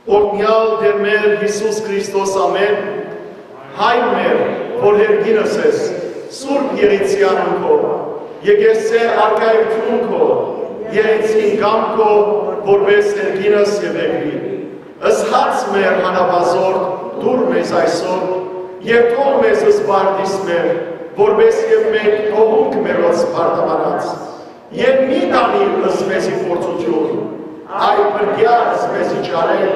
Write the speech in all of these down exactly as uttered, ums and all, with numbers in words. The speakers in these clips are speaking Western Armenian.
Օրհնեալ Տէր մեր Յիսուս Քրիստոս, ամէն։ Հայր մեր, որ երկինս ես, սուրբ եղիցեան քո, եկեղեցէ արքայութիւն քո, եղիցին կամ քո, որպես երկինս եւ երկրի։ Ըսած մեր հանապազորդ, դուր մեզ այսօր, եւ թող մեզ զբարդիս մեր, որպես եւ մենք թողունք մերոց բարդաբարած։ Եւ մի տանիր ըսպեզի փորձութիւն, այլ փրկեա ըսպեզի չարեր,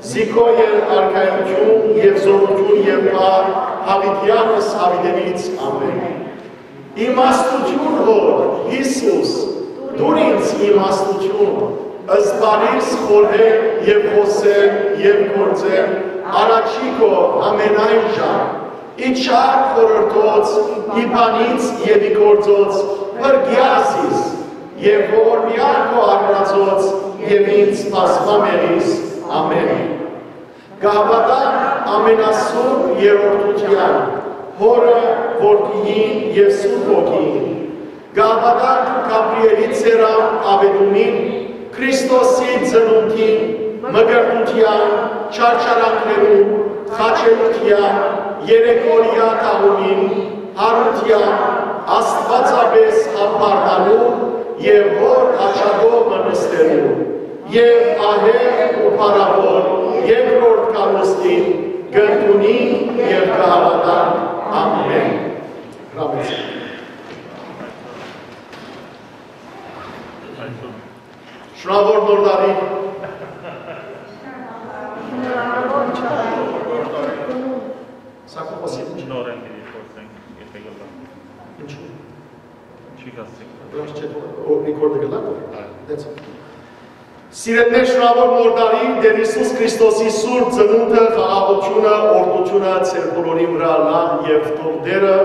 զի քո ել արքայութիւն եւ զօրութիւն եւ պար, յաւիտեանս յաւիտենից։ Ամէն։ Իմաստութիւն Հօր, Յիսուս, դուր ինձ իմաստութիւն, զբարիս խորհել եւ խօսել եւ գործել, առաջի քո ամենայն ժամ, ի չար խորհրդոց, ի բանից եւ ի գործոց, փրկեա զիս, եւ ողորմեա քո արարածոց, եւ ինձ բազմամեղիս։ Ամէն։ Կհաւատանք ամենասուրբ երրորդութեան, Հօրը, Որդիին եւ Սուրբ Հոգիին։ Կհաւատանք Գաբրիէլի ծերան աւետումին, Քրիստոսի ծնունդին, մկրտութեան, չարչարանքներուն, խաչելութեան, երեկորեայ թաղումին, յարութեան, աստուածապէս յամբարնալուն եւ Հօր աջակողմը նստելուն, եւ ահեղ ու փառաւոր երկրորդ գալուստին կ'ընդունինք եւ կ'հաւատանք։ Ամէն։ Հրամեցեք։ Շնորհաւոր Նոր տարի։ Սա քո խոսքը։ Նորեն պիտի խոսենք, եթե կլա։ Ինչու՞։ Չի գացի։ Բնավ չէ, որ record-ը կլա, որ դեցը։ Սիրելիներ, շնորհաւոր Նոր տարի, Տէր Յիսուս Քրիստոսի սուրբ ծնունդը, խաղաղութիւնը, օրհնութիւնը ձեր բոլորին վրայ ըլլայ եւ թող Տէրը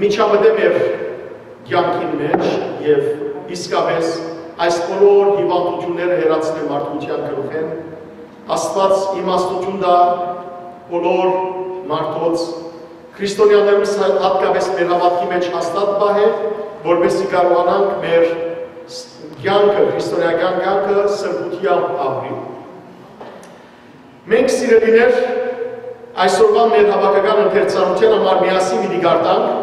միջամտէ մեր կեանքին մէջ եւ իսկապէս այս բոլոր հիւանդութիւնները հեռացնէ մարդկութեան գլուխէն։ Աստուած իմաստութիւն տայ բոլոր մարդոց, քրիստոնեաներուն, հատկապէս մեր հաւատքի մէջ հաստատ պահէ, որպեսզի կարողանանք մեր կեանքը, քրիստոնեական կեանքը սրբութեամբ ապրի։ Մենք, սիրելիներ, այսօրուան մեր հաւաքական ընթերցանութեան համար միասին պիտի կարդանք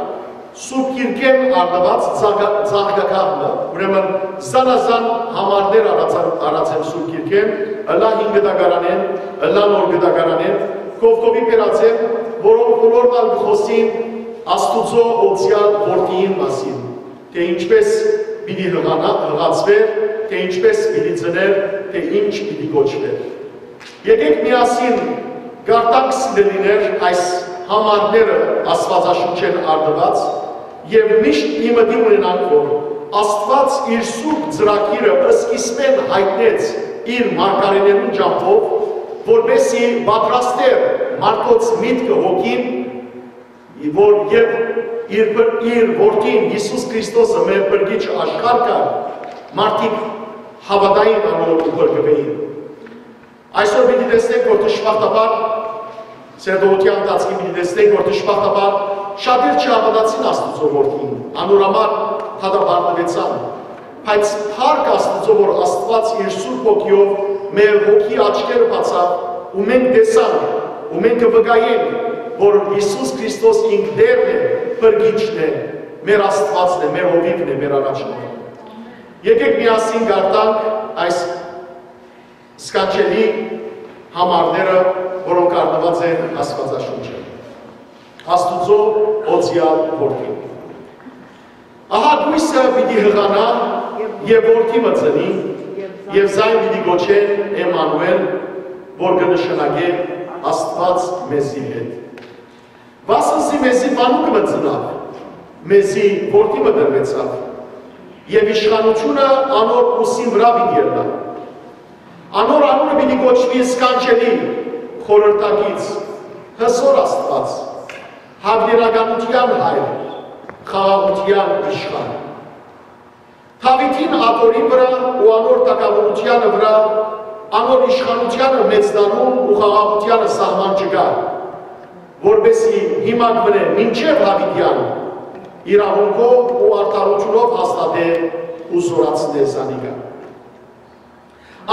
Սուրբ Գիրքէն առնուած ծաղ-, ծաղկագահ մը, ուրեմն զանազան համարներ առած-, առած եմ Սուրբ Գիրքէն, ըլլայ Հին Կտակարանէն, ըլլայ Նոր Կտակարանէն, կովկովի բերած եմ, որոնք բոլորն ալ կը խօսին Աստուծոյ օծեալ Որդիին մասին, թէ ինչպէս պիտի յղանա-, յղացուէր, թէ ինչպէս պիտի ծնէր, թէ ինչ պիտի կոչուէր։ Եկէք միասին կարդանք, սիրելիներ, այս համարները Աստուածաշունչէն առնուած եւ միշտ մի մտի ունենանք, որ Աստուած իր սուրբ ծրագիրը սկիզբէն յայտնեց իր մարգարէներուն ճամբով, որպեսզի պատրաստէր մարդոց միտքը, հոգին, որ եւ իր, իր Որդին Յիսուս Քրիստոսը մեր փրկիչը աշխարհ գար, մարդիկ հաւատային անոր ու փրկուէին։ Այսօր պիտի տեսնենք, որ դժբախտաբար, սերտողութեան ընթացքին պիտի տեսնենք, որ դժբախտաբար շատեր չհաւատացին Աստուծոյ Որդիին, անոր համար դատապարտուեցան։ Բայց փառք Աստուծոյ, որ Աստուած իր Սուրբ Հոգիով մեր հոգի աչքերը բացաւ ու մենք տեսանք ու մենք կը վկայենք, որ Յիսուս Քրիստոս ինք Տէրն է, Փրկիչն է, մեր Աստուածն է, մեր Հովիւն է, մեր Առաջնորդն է։ Եկեք միասին կարդանք այս սքանչելի համարները, որոնք առնուած են Աստուածաշունչը։ Աստուծոյ օծեալ Որդին։ Ահա կոյսը պիտի յղանայ եւ որդի մը ծնի, եւ զայն պիտի կոչեն Էմմանուէլ, որ կը նշանակէ Աստուած մեզի հետ։ Վասնզի մեզի մանուկ մը ծնաւ, մեզի որդի մը տրուեցաւ, եւ իշխանութիւնը անոր ուսին վրայ պիտի ըլլայ։ Անոր անունը պիտի կոչուի Սքանչելի, Խորհրդակից, Հզօր Աստուած, Յաւիտենականութեան Հայր, Խաղաղութեան Իշխան։ Դաւիթին աթոռին վրայ ու անոր թագաւորութեանը վրայ, անոր իշխանութեանը մեծնալուն ու խաղաղութեանը սահման չկայ, որպէսզի հիմակ մնէ մինչեւ յաւիտեան, իրաւունքով ու արդարութիւնով հաստատէ ու զօրացնէ զանիկա։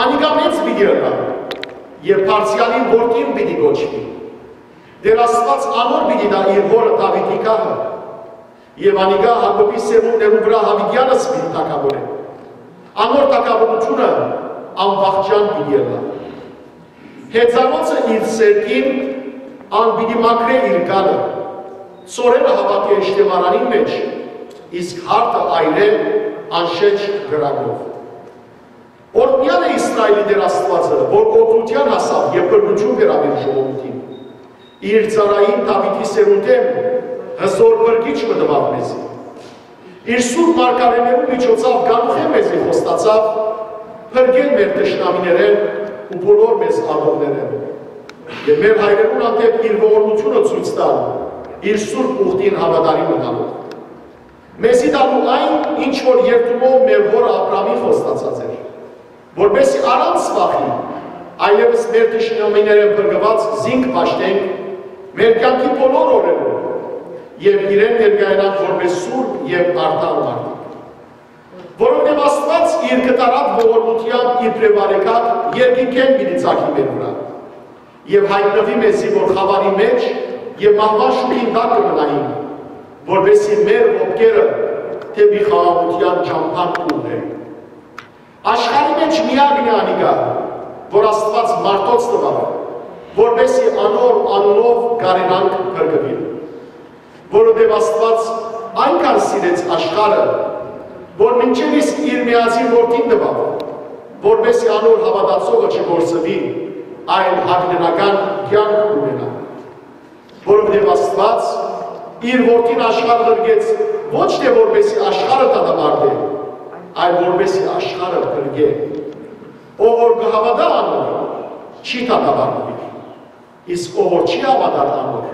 Անիկա մեծ պիտի ըլլայ, Եւ բարձեալին որդին պիտի կոչուի։ Տէր Աստուած անոր պիտի տայ իր հօրը Դաւիթի գահը, եւ անիկա Յակոբի սերունդներուն վրայ յաւիտեանս պիտի թագաւորէ։ Անոր թագաւորութիւնը անվախճան պիտի ըլլայ։ Հեծանոցը իր սերտին, ան պիտի մաքրէ իր գալը, ծորերը հաւաքէ ըշտեմարանին մէջ, իսկ հարթը այրէ անշէջ կրակով։ Օրհնեալ է Իսրայէլի Տէր Աստուածը, որ օրհնութեան հասաւ եւ փրկութիւն բերաւ իր ժողովուրդին։ Իր ծառային Դաւիթի սերունդէն հզօր փրկիչ մը տուաւ մեզի։ Իր սուրբ մարգարէներուն միջոցաւ կանուխէն մեզի խոստացաւ փրկել մեր թշնամիներէն ու բոլոր մեզ ատողներէն։ Եւ մեր հայրերուն հանդէպ իր ողորմութիւնը ցոյց տալ իր սուրբ ուխտին հաւատարիմ մնալով։ Մեզի տալու այն, ինչ որ երդումով մեր հօր Աբրահամին խոստացած էր, որպեսզի առանց վախի, այլեւս մեր թշնամիներէն փրկուած զինք պաշտենք մեր կեանքի բոլոր օրերուն եւ իրեն ներկայանանք որպէս սուրբ եւ արդար մարդիկ։ Որովհետեւ Աստուած իր կտարատ ողորմութեամբ իբրեւ արեգակ երկնքէն պիտի ծագի մեր վրայ եւ յայտնուի մեզի, որ խաւարի մէջ եւ մահուան շուքին տակ կը մնայինք, որպեսզի մեր ոտքերը դէպի խաղաղութեան ճամբան ուղղեն։ Աշխարհի մէջ միակն է անիկա, որ Աստուած մարդոց տուաւ, որպեսզի անոր անունով կարենանք փրկուիլ։ Որովհետեւ Աստուած այնքան սիրեց աշխարհը, որ մինչեւ իսկ իր միածին որդին տուաւ, որպեսզի անոր հաւատացողը չկորսուի, այլ յայտնական կեանք ունենայ։ Որովհետեւ Աստուած իր որդին աշխարհ ղրկեց ոչ թէ որպեսզի աշխարհը դատապարտէ, այլ որպեսզի աշխարհը փրկէ։ Ով որ կը հաւատայ անոր, չի դատապարտուիր, իսկ ով որ չի հաւատար անոր,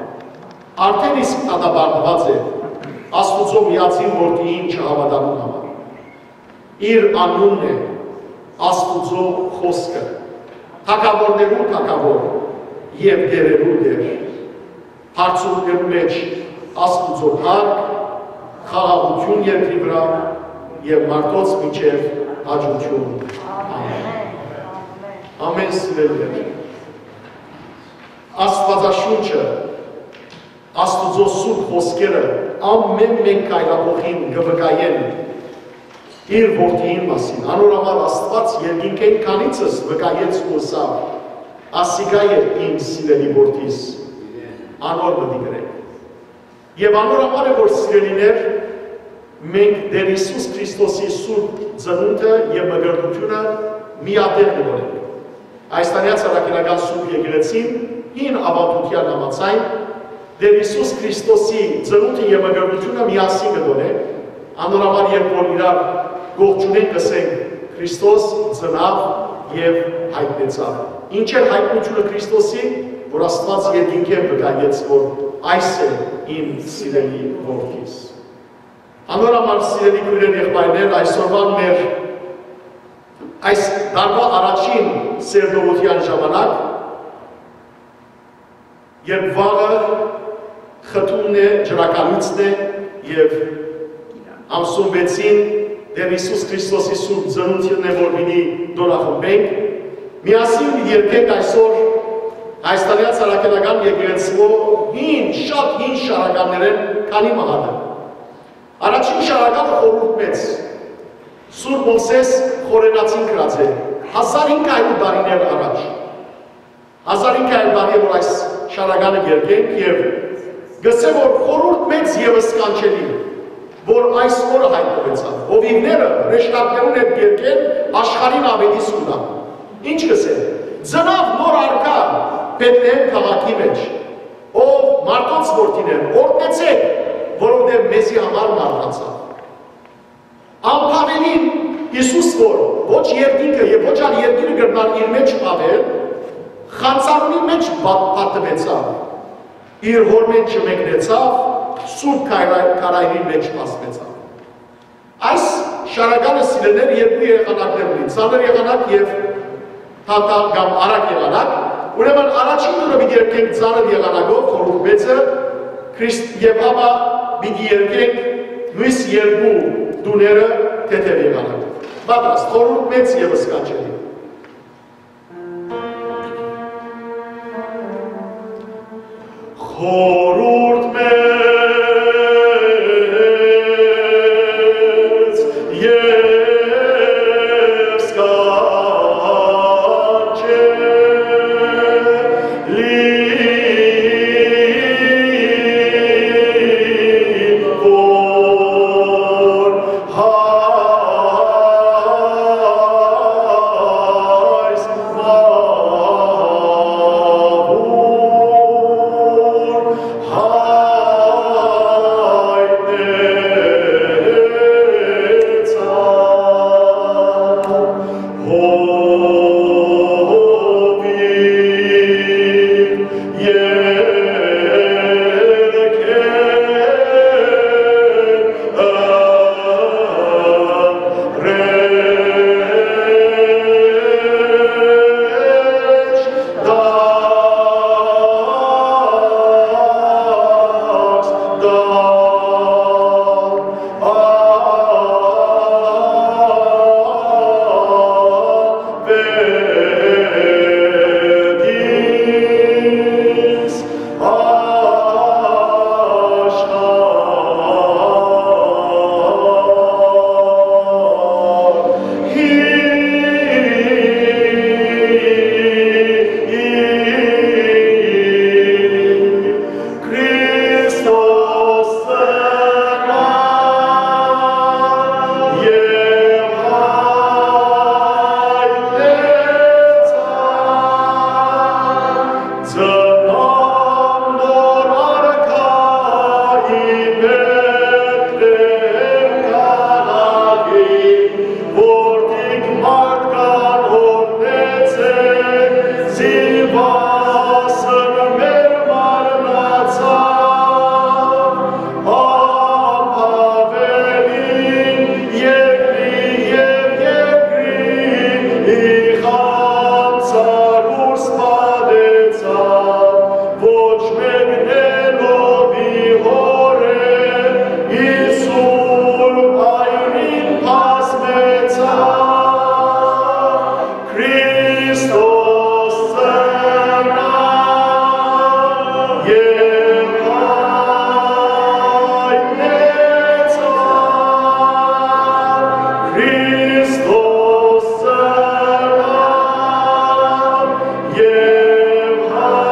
արդէն իսկ դատապարտուած է Աստուծոյ միածին որդիին չհաւատալուն համար։ Իր անունն է Աստուծոյ խօսքը, թագաւորներուն թագաւոր եւ տէրերուն Տէր։ Բարձունքներու մէջ Աստուծոյ փառք, խաղաղութիւն երկրի վրայ եւ մարդոց միջեւ հաճութիւն։ Ամէն։ Ամէն, սիրելիներ։ Աստուածաշունչը, Աստուծոյ սուրբ խօսքերը ամէն մէկ քայլափոխին կը վկայեն իր որդիին մասին։ Անոր համար Աստուած երկինքէն քանիցս վկայեց ու ըսաւ. «Ասիկա է իմ սիրելի որդիս, անոր մտիկ ըրէք»։ Եւ անոր համար է, որ, սիրելիներ, մենք Տէր Յիսուս Քրիստոսի սուրբ ծնունդը եւ մկրտութիւնը միատեղ կը դնենք։ Այս տանեաց առաքելական սուրբ եկեղեցին հին աւանդութեան համաձայն Տէր Յիսուս Քրիստոսի ծնունդը եւ մկրտութիւնը միասին կը դնենք, անոր համար, երբ որ իրար կողջունենք, կ'ըսենք. «Քրիստոս ծնաւ եւ յայտնեցաւ»։ Ինչ էր յայտնութիւնը Քրիստոսի, որ Աստուած երկինքէն վկայեց, որ այս է իմ սիրելի որդիս։ Անոր համար, սիրելի քոյրեր, եղբայրներ, այսօրվան մեր այս տարուայ առաջին սերտողութեան ժամանակ, երբ վաղը խթունն է, ջրակալույցն է, եւ ամսուն վեցին Տէր Յիսուս Քրիստոսի սուրբ ծնունդն է, որ պիտի տօնախմբենք, միասին պիտի երգենք այսօր Հայաստանեան Սարաքելական եկեղեցւոյ հին, շատ հին շարականներէն քանի մը հատը։ Առաջին շարականը խորհուրդ մեծ, Սուրբ Մովսէս Խորենացին գրած է, հազար հինգ հարիւր տարիներ առաջ։ Հազար հինգ հարիւր տարի է, որ այս շարականը կերկենք, եւ գսե, որ խորհուրդ մեծ եւ սքանչելի, որ այս օրը յայտնուեցաւ, հովիւները հրեշտակներուն հետ կերկեն, աշխարհին աւետիս կու տան։ Ինչ գսե, ծնաւ նոր արքայ Բեթլեհէմ քաղաքի մէջ, ով մարդոց որդին է, օրհնեցէք, որովհետեւ մեզի համար մահացաւ։ Անբաւելին Յիսուս, որ ոչ երկինքը եւ ոչ ալ երկիրը կրնար իր մէջ բաւել, խանձարունի մէջ բա-, պատուեցաւ, իր հօրմէն չմեկնեցաւ, սուրբ քարայ-, քարայրին մէջ բացուեցաւ։ Այս շարականը, սիրելիներ, երկու եղանակներ ունի, ծանր եղանակ եւ թաթա կամ արագ եղանակ, ուրեմն առաջին տուրը պիտի երգենք ծանր եղանակով, խորհուրդ մեծը, Քրիստ, եւ ապա պիտի երգենք նոյս երկու տուները թեթեւ եղանակով։ Պատրաստ, խորհուրդ մեծ եւ սքանչելի։ Խորհուրդ մեծ եւ սքանչելի, որ յայս մաւուն Քրիստոս ծնաւ եւ հայտնեցաւ, ծնաւ նոր արքայի Բեթլէհէմ քաղաքի, որդիք մարդկան օգնեցէ, զինուածը մեր մարմնացաւ, ապաւելին երկրի եւ երկրի իղանցարուս պատեցաւ, ոչ մեկն էլ ով ի հօրէն, Յիսուս այրին բազմեցաւ, Քրիստոս ծնաւ եւ հայտնեցաւ, Քրիստոս ծնաւ եւ հայտնեցաւ։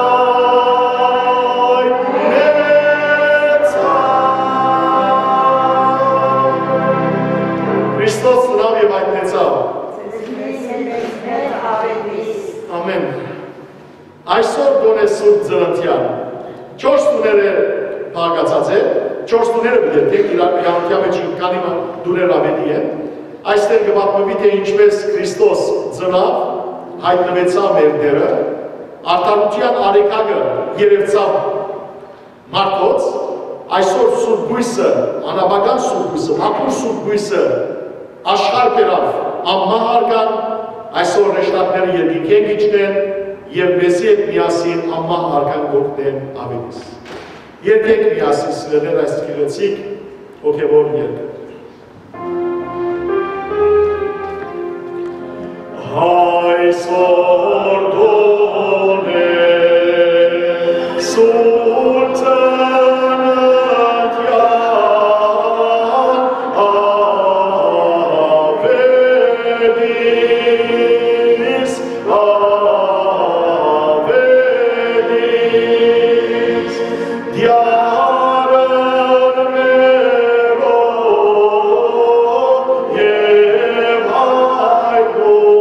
Քրիստոս ծնաւ եւ հայտնեցաւ։ Ամէն։ Այսօր տօն է Սուրբ Ծննդեան։ Չորս տուները փակացած է, չորս տուները պիտի երթենք, իրարու իրականության մէջ քանի մը տուներ աւետի են։ Այստեղ կը պատմուի, թէ ինչպէս Քրիստոս ծնաւ, հայտնուեցաւ մեր Տէրը, արդարութեան արեգակը երեւցաւ մարդոց, այսօր Սուրբ Բոյսը, անաբական Սուրբ Բոյսը, մաքուր Սուրբ Բոյսը աշխարհ բերաւ անմահ արքան, այսօր հրեշտակները երկնքէն կ'իջնեն եւ մեզի հետ միասին անմահ արքան կ'օգնեն աւետիս։ Երգենք միասին, սիրելիներ, այս գեղեցիկ հոգեւոր երգը։ Այսօր տօն է Սուրբ Ծննդեան աւետիս, աւետիս, Տեառն մերոյ եւ հայտնութեան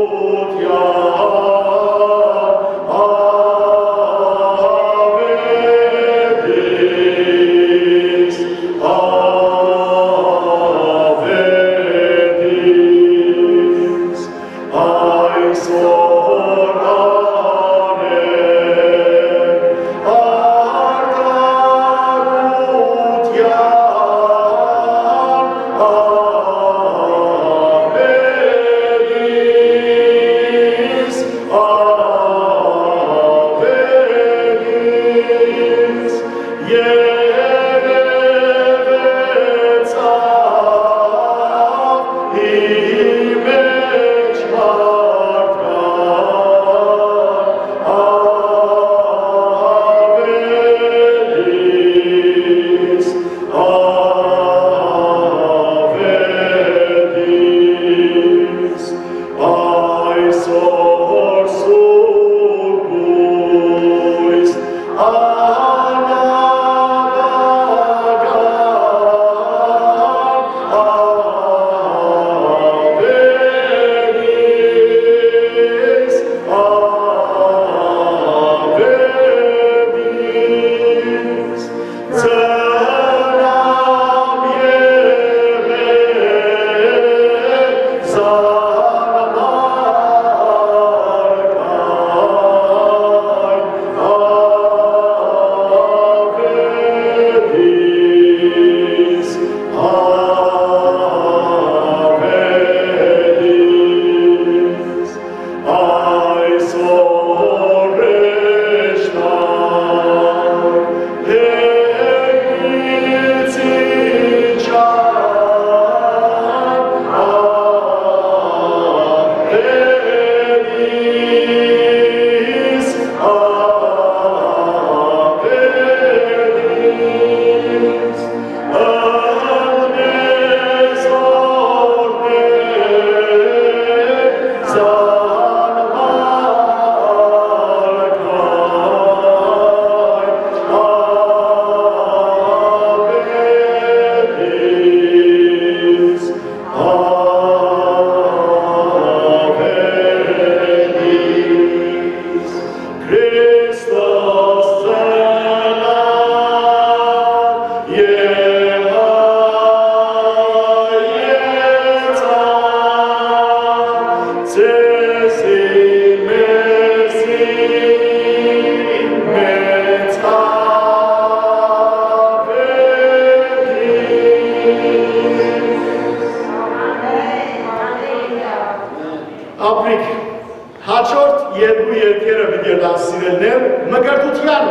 Հաջորդ երկու երկերը պիտի ըլլան, սիրելիներ, մկրտութեան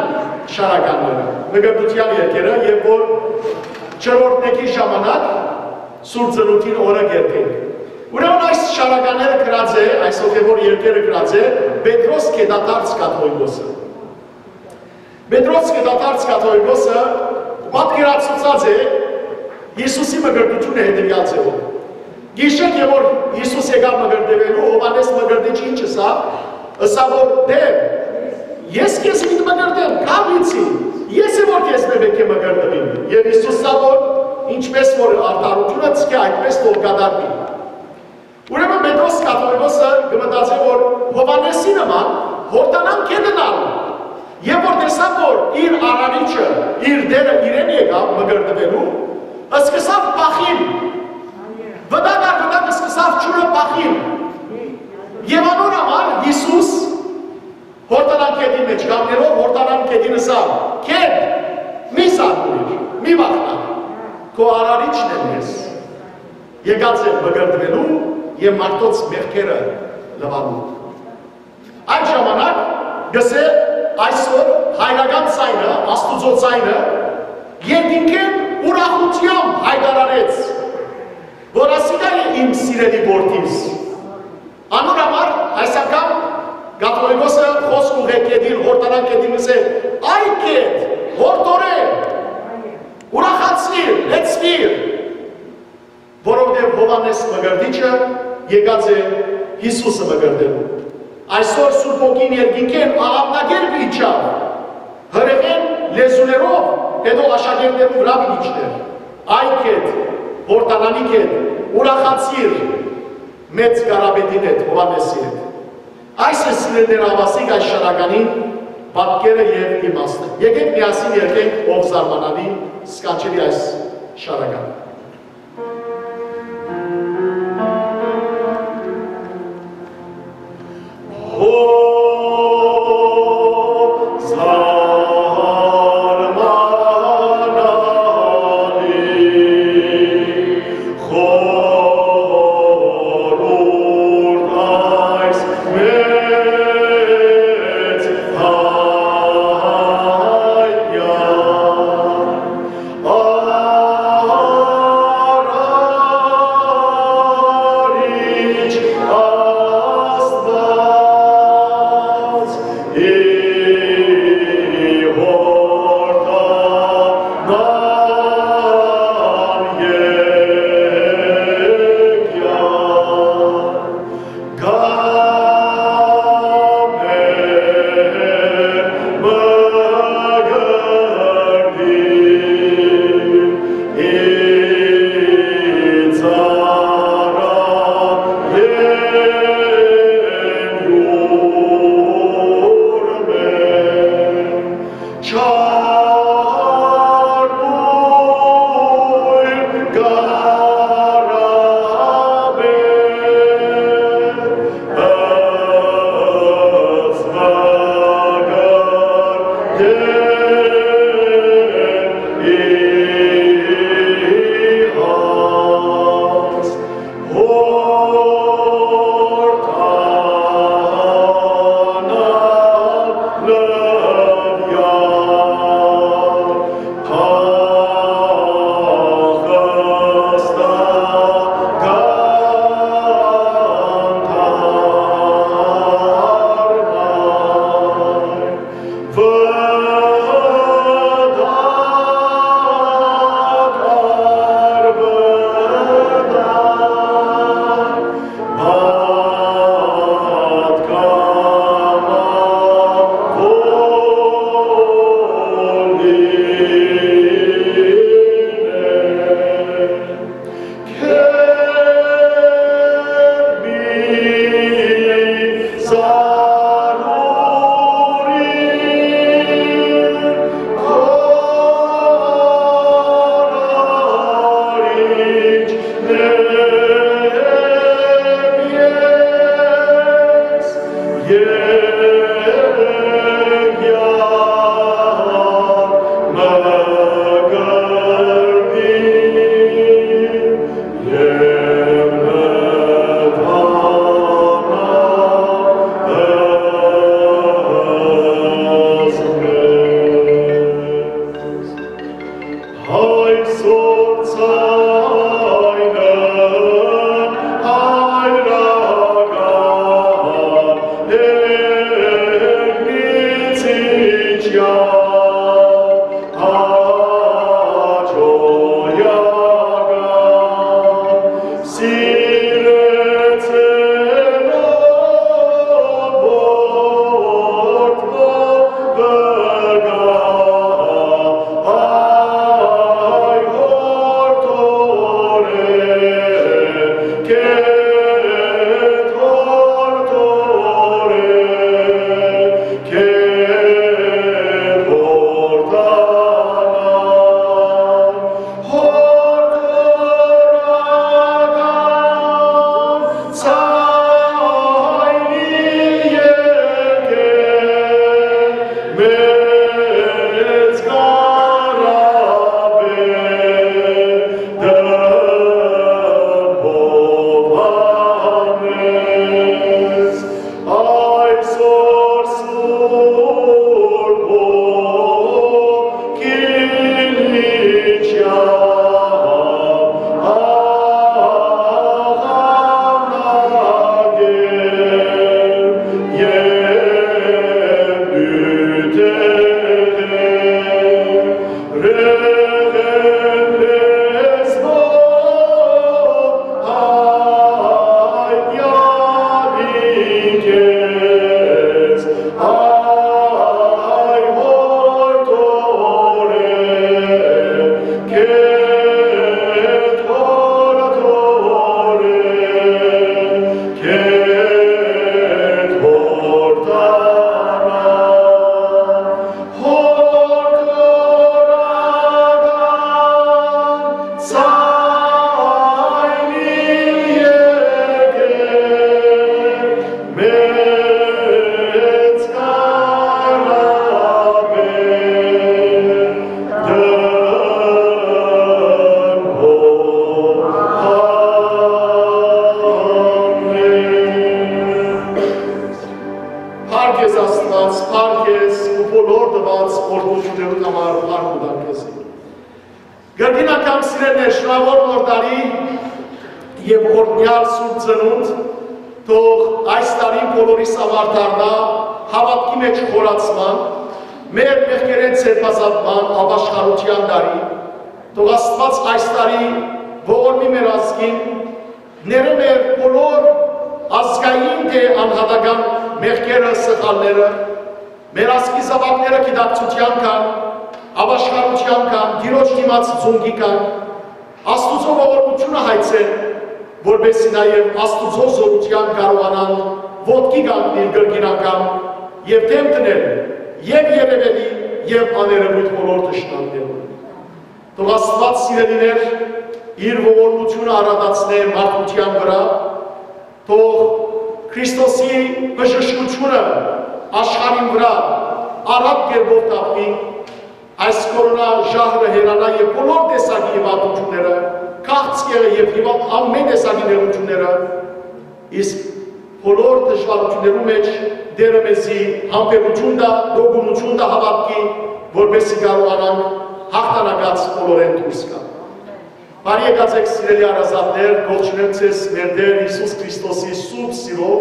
շարականները, մկրտութեան երկերը, եւ որ չորրորդ մեկի ժամանակ Սուրբ Ծնունդին օրը կերտենք։ Ուրեմն այս շարականները գրած է, այս հոգեվոր երկերը գրած է Պետրոս Գետադարձ կաթողիկոսը։ Պետրոս Գետադարձ կաթողիկոսը պատկերացուցած է Յիսուսի մկրտութիւնը հետեւեալ ձեւով։ Գիշեր եւ որ Յիսուս եկաւ մկրտուելու, Յովհաննէս Մկրտիչը ինչ ըսաւ, ըսաւ որ Տէր, ես քեզմիտ մկրտեմ, գալ ինձի, ես եմ որ քեզմէ պէտք է մկրտուիմ։ Եւ Յիսուս ըսաւ որ ինչպէս որ արդարութիւնը ձգէ, այդպէս թող կատարուի։ Ուրեմն Պետրոս կաթողիկոսը կը մտածէ որ Յովհաննէսի նման Յորդանան գետն ալ, եւ որ տեսաւ որ իր արարիչը, իր Տէրը իրեն եկաւ մկրտուելու, սկսաւ փախիլ, վտակ առ վտակ սկսաւ ջուրը փախիլ, եւ անոր համար Յիսուս Յորդանան գետին մէջ կանգնելով, Յորդանան գետին ըսաւ. «Գետ, մի զարմուիր, մի վախնար, քո արարիչն եմ ես, եկած եմ մկրտուելու եւ մարդոց մեղքերը լուալու»։ Այդ ժամանակ գսէ այսօր հայրական ձայնը, Աստուծոյ ձայնը, երկինքէն ուրախութեամբ յայտարարեց, որ ասիկա է իմ սիրելի որդիս։ Անոր համար այս անգամ կաթողիկոսը խօսք ուղղեց գետին, Յորդանան գետին, ըսէ. «Այ գետ, յորդորէ, ուրախացիր, լեցուիր, որովհետեւ Յովհաննէս Մկրտիչը եկած է Յիսուսը մկրտելու»։ Այսօր Սուրբ Հոգին երկինքէն աղաւնակերպ իջաւ, հրեղէն լեզուներով, հետո աշակերտներու վրայ պիտի իջնէր։ «Այ գետ, Յորդանանի գետ, ուրախացիր մեծ կարապետին հետ, Յովհաննէսի հետ»։ Այս է, սիրելիներ, ահաւասիկ այս շարականին պատկերը եւ իմաստը։ Եկէք միասին երգենք «Ով զարմանալի, սքանչելի այս շարական»։ Փառք ես Աստուած, փառք ես ու բոլոր տուած օրհնութիւններուն համար փառք ու տանք քեզի։ Կրկին անգամ, սիրելիներ, շնորհաւոր Նոր տարի եւ օրհնեալ Սուրբ Ծնունդ, թող այս տարին բոլորիս համար դառնայ հաւատքի մէջ խորացման, մեր մեղքերէն ձերբազատման, ապաշխարութեան տարի, թող Աստուած այս տարի ողորմի մեր ազգին, ներէ մեր բոլոր ազգային թէ անհատական մեղքերը, սխալները, մեր ազգի զաւակները գիտակցութեան գան, ապաշխարութեան գան, Տիրոջ դիմաց ծունկի գան, Աստուծոյ ողորմութիւնը հայցեն, որպէս զի նաեւ Աստուծոյ զօրութեան կարողանան ոտքի կանգնել կրկին անգամ եւ դէմ դնել եւ երեւելի եւ աներեւոյթ բոլոր թշնամիներուն։ Թող Աստուած, սիրելիներ, իր ողորմութիւնը արածացնէ մարդկութեան վրայ, թող Քրիստոսի բժշկութիւնը աշխարհին վրայ արագ կերպով թափուի, այս կորոնա ժահրը հեռանայ եւ բոլոր տեսակի հիւանդութիւնները, քաղցկեղը եւ հիւա-, ամէն տեսակի նեղութիւնները, իսկ բոլոր դժուարութիւններու մէջ Տէրը մեզի համբերութիւն տայ, տոկունութիւն տայ հաւատքի, որպէս զի կարողանանք յաղթանակած բոլորէն դուրս գալ։ Բարի եկած էք, սիրելի հարազատներ, կողջունեմ ձեզ մեր Տէր Յիսուս Քրիստոսի սուրբ սիրով,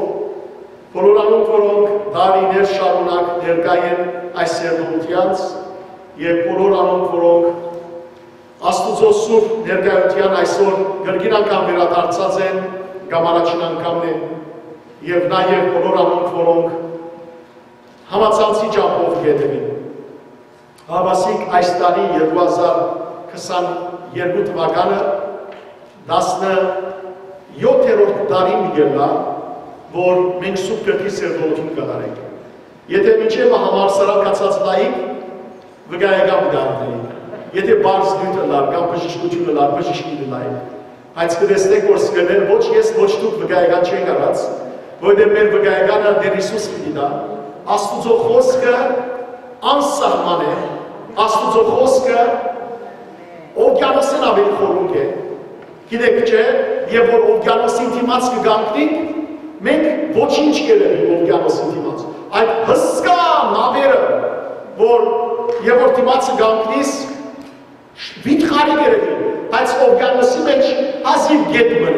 բոլոր անոնք, որոնք տարիներ շարունակ ներկայ են այս երբողութեանց, եւ բոլոր անոնք, որոնք Աստուծոյ սուրբ ներկայութեան այսօր կրկին անգամ վերադարձած են կամ առաջին անգամն է, եւ նաեւ բոլոր անոնք, որոնք համացանցի ճամբով կ'ետեւին։ Հաւասիկ այս տարի երկու հազար քսան երկու թուականը տասնեթերորդ տարին կ'ելլայ, որ մենք Սուրբ Գրքի սերտողութիւն կատարենք։ Եթէ մինչեւ մը համալսարան գացած լայք, վկայական պիտի առնէի։ Եթէ պարզ նիւթ ըլլար կամ բժշկութիւն ըլլար, բժիշկ պիտի լայք։ Բայց կը տեսնենք, որ սիրելիներ, ոչ ես, ոչ դուք վկայական չենք առած, որովհետեւ մեր վկայականը Տէր Յիսուս պիտի տայ։ Աստուծոյ խօսքը անսահման է, Աստուծոյ խօսքը օվկիանոսէն աւելի խորունկ է։ Գիտեք չէ, եւ որ օվկիանոսին դիմաց կը կանգնենք, մենք ոչինչ կ'երեւինք օվկիանոսին դիմաց։ Այդ հսկայ նաւերը, որ, եւ որ դիմացը կանգնիս, վիթխարի կ'երեւին, բայց օվկիանոսի մէջ հազիւ գետ մը է։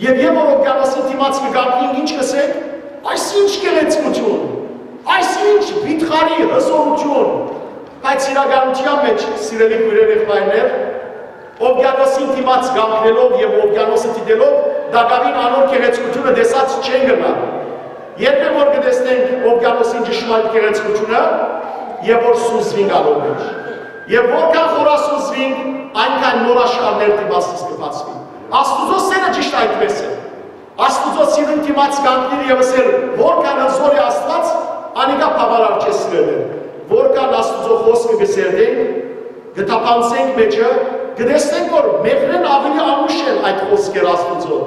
Եւ, եւ որ օվկիանոսի դիմաց կը կանգնենք, ինչ կ'ըսենք, այս ինչ գեղեցկութիւն, այս ինչ վիթխարի հզորութիւն, բայց իրականութեան մէջ, սիրելի քոյրեր, եղբայրներ, օվկիանոսին դիմաց կանգնելով եւ օվկիանոսը դիտելով, տակաւին անոր գեղեցկութիւնը տեսած չեն գնալ։ Երբեք որ կը տեսնենք օվկիանոսին ճշմարիտ գեղեցկութիւնը, եւ որ սուզվինք անոր մէջ, եւ որքան խորասուզվինք, այնքան նոր աշխարհներ դիմացս կը բացուին։ Աստուծոյ սէրը ճիշդ այդպէս է։ Աստուծոյ սիրուն դիմաց կանգնիլ եւ ըսել, որքան հզոր է Աստուած, անիկա բաւարար չէ, սիրելիներ։ Որքան Աստուծոյ խօսքը կը սերտենք, կը թափանցենք մէջը, կը տեսնենք, որ մեղրէն աւելի անուշ են այդ խօսքերը Աստուծոյ,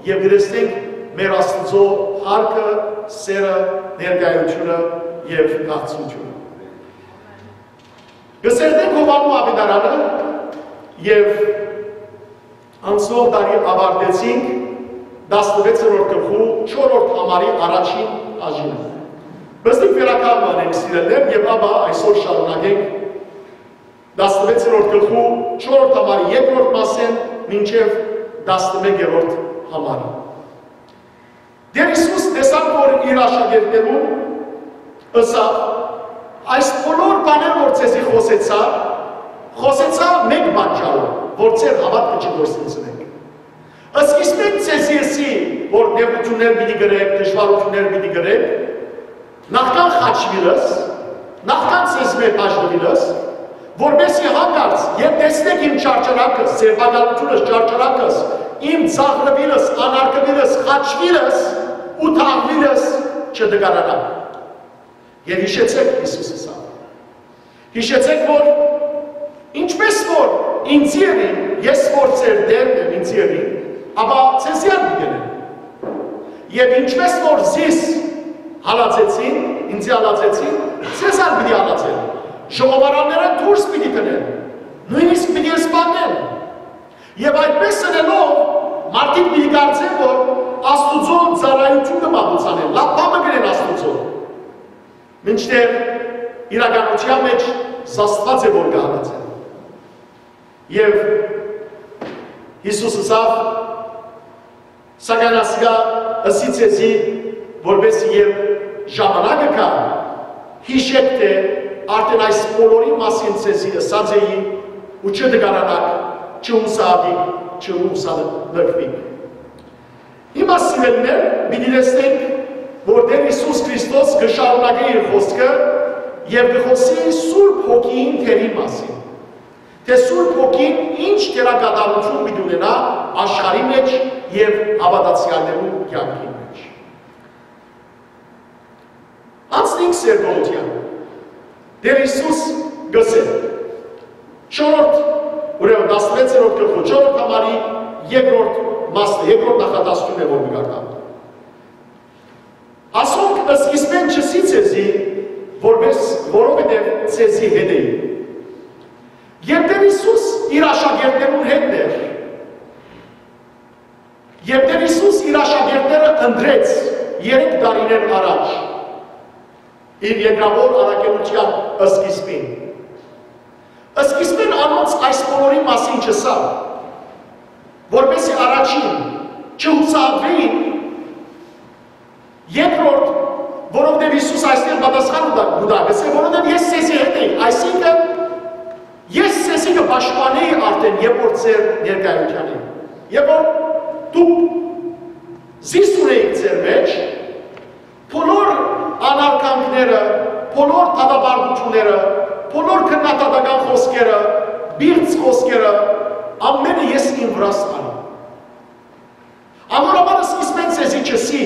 եւ կը տեսնենք մեր Աստուծոյ փառքը, սէրը, ներկայութիւնը եւ քաղցրութիւնը։ Կը սերտենք Յովհաննէ աւետարանը եւ անցնող տարի աւարտեցինք տասնվեցերորդ գլխու չորրորդ համարի առաջին բաժինը։ Պստիկ վերականգ անենք, սիրելիներ, եւ ապա այսօր շարունակենք տասնվեցերորդ գլխու չորրորդ համարի երկրորդ մասէն մինչեւ տասնմեկերորդ համարը։ Տէր Յիսուս տեսաւ, որ իր աշակերտներուն ըսաւ. «Այս բոլոր բաները, որ ձեզի խօսեցայ, խօսեցայ մէկ պատճառով, որ ձեր հաւատքը չկորսնցնէք։ Սկիզբէն ձեզի ըսի, որ նեղութիւններ պիտի կրէք, դժուարութիւններ պիտի կրէք, նախքան խաչուիլս, նախքան ձեզմէ բաժնուիլս, որպէս զի հանկարծ, երբ տեսնէք իմ չարչարանքս, ձերբակալութիւնս, չարչարանքս, իմ ծաղրուիլս, անարգուիլս, խաչուիլս ու թաղուիլս, չտկարանաք»։ Եւ յիշեցէք, Յիսուս ըսաւ, յիշեցէք, որ ինչպես որ ինձի ըրին, ես որ ձեր Տէրն եմ, ինձի ըրին, ապա ձեզի ալ պիտի ըրեն։ Եւ ինչպես որ զիս հալածեցին, ինձի հալածեցին, ձեզ ալ պիտի հալածեն։ Ժողովարաններէն դուրս պիտի դնեն, նոյնիսկ պիտի սպանեն։ Եւ այդպես ըլելով, մարդիկ պիտի կարծեն, որ Աստուծոյ ծառայութիւն կը մատուցանեն, լաւ բան մը կ'ընեն Աստուծոյ։ Մինչդեռ իրականութեան մէջ զաստուած է որ կը հալածեն։ Եւ Յիսուս ըսաւ. «Սակայն ասիկա ըսի ձեզի, որպէս եւ ժամանակը գայ, յիշէք թէ արդէն այս բոլորի մասին ձեզի ըսած էի, ու չտկարանաք, չհուսահատիք, չհուսալքուիք»։ Հիմա, սիրելիներ, պիտի տեսնենք որ Տէր Յիսուս Քրիստոս կը շարունակէ իր խօսքը եւ կը խօսի Սուրբ Հոգիին դերի մասին, թէ Սուրբ Հոգին ինչ դերակատարութիւն պիտի ունենայ աշխարհի մէջ եւ հաւատացեալներու կեանքին մէջ։ Անցնենք սերտողութեան։ Տէր Յիսուս կ'ըսէ, չորրորդ, ուրեմն տասնվեցերորդ գլխու չորրորդ համարի երկրորդ մասը, երկրորդ նախադասութիւնն է որ կը կարդամ. «Ասոնք սկիզբէն չըսի ձեզի, որպէս որովհետեւ ձեզի հետ էի»։ Երբ Տէր Յիսուս իր աշակերտներուն հետ էր, երբ Տէր Յիսուս իր աշակերտները ընտրեց երեք տարիներ առաջ, իր երկրաւոր առաքելութեան սկիզբին, սկիզբէն անոնց այս բոլորի մասին չըսաւ, որպէսզի առաջին, չհուսահատուէին, երկրորդ, որովհետեւ Յիսուս այստեղ պատասխան կու տայ, կու տայ, կ'ըսէ, որովհետեւ ես ձեզի հետ էի, այսինքն, ես ձեզի կը պաշտպանէի արդէն, երբ որ ձեր ներկայութեան էի, երբ որ դուք զիս ունէիք ձեր մէջ, բոլոր անարգանքները, բոլոր դատապարտութիւնները, բոլոր քննադատական խօսքերը, պիղծ խօսքերը, ամէնքը ես իմ վրաս անի։ Անոր համար սկիզբէն ձեզի չըսի,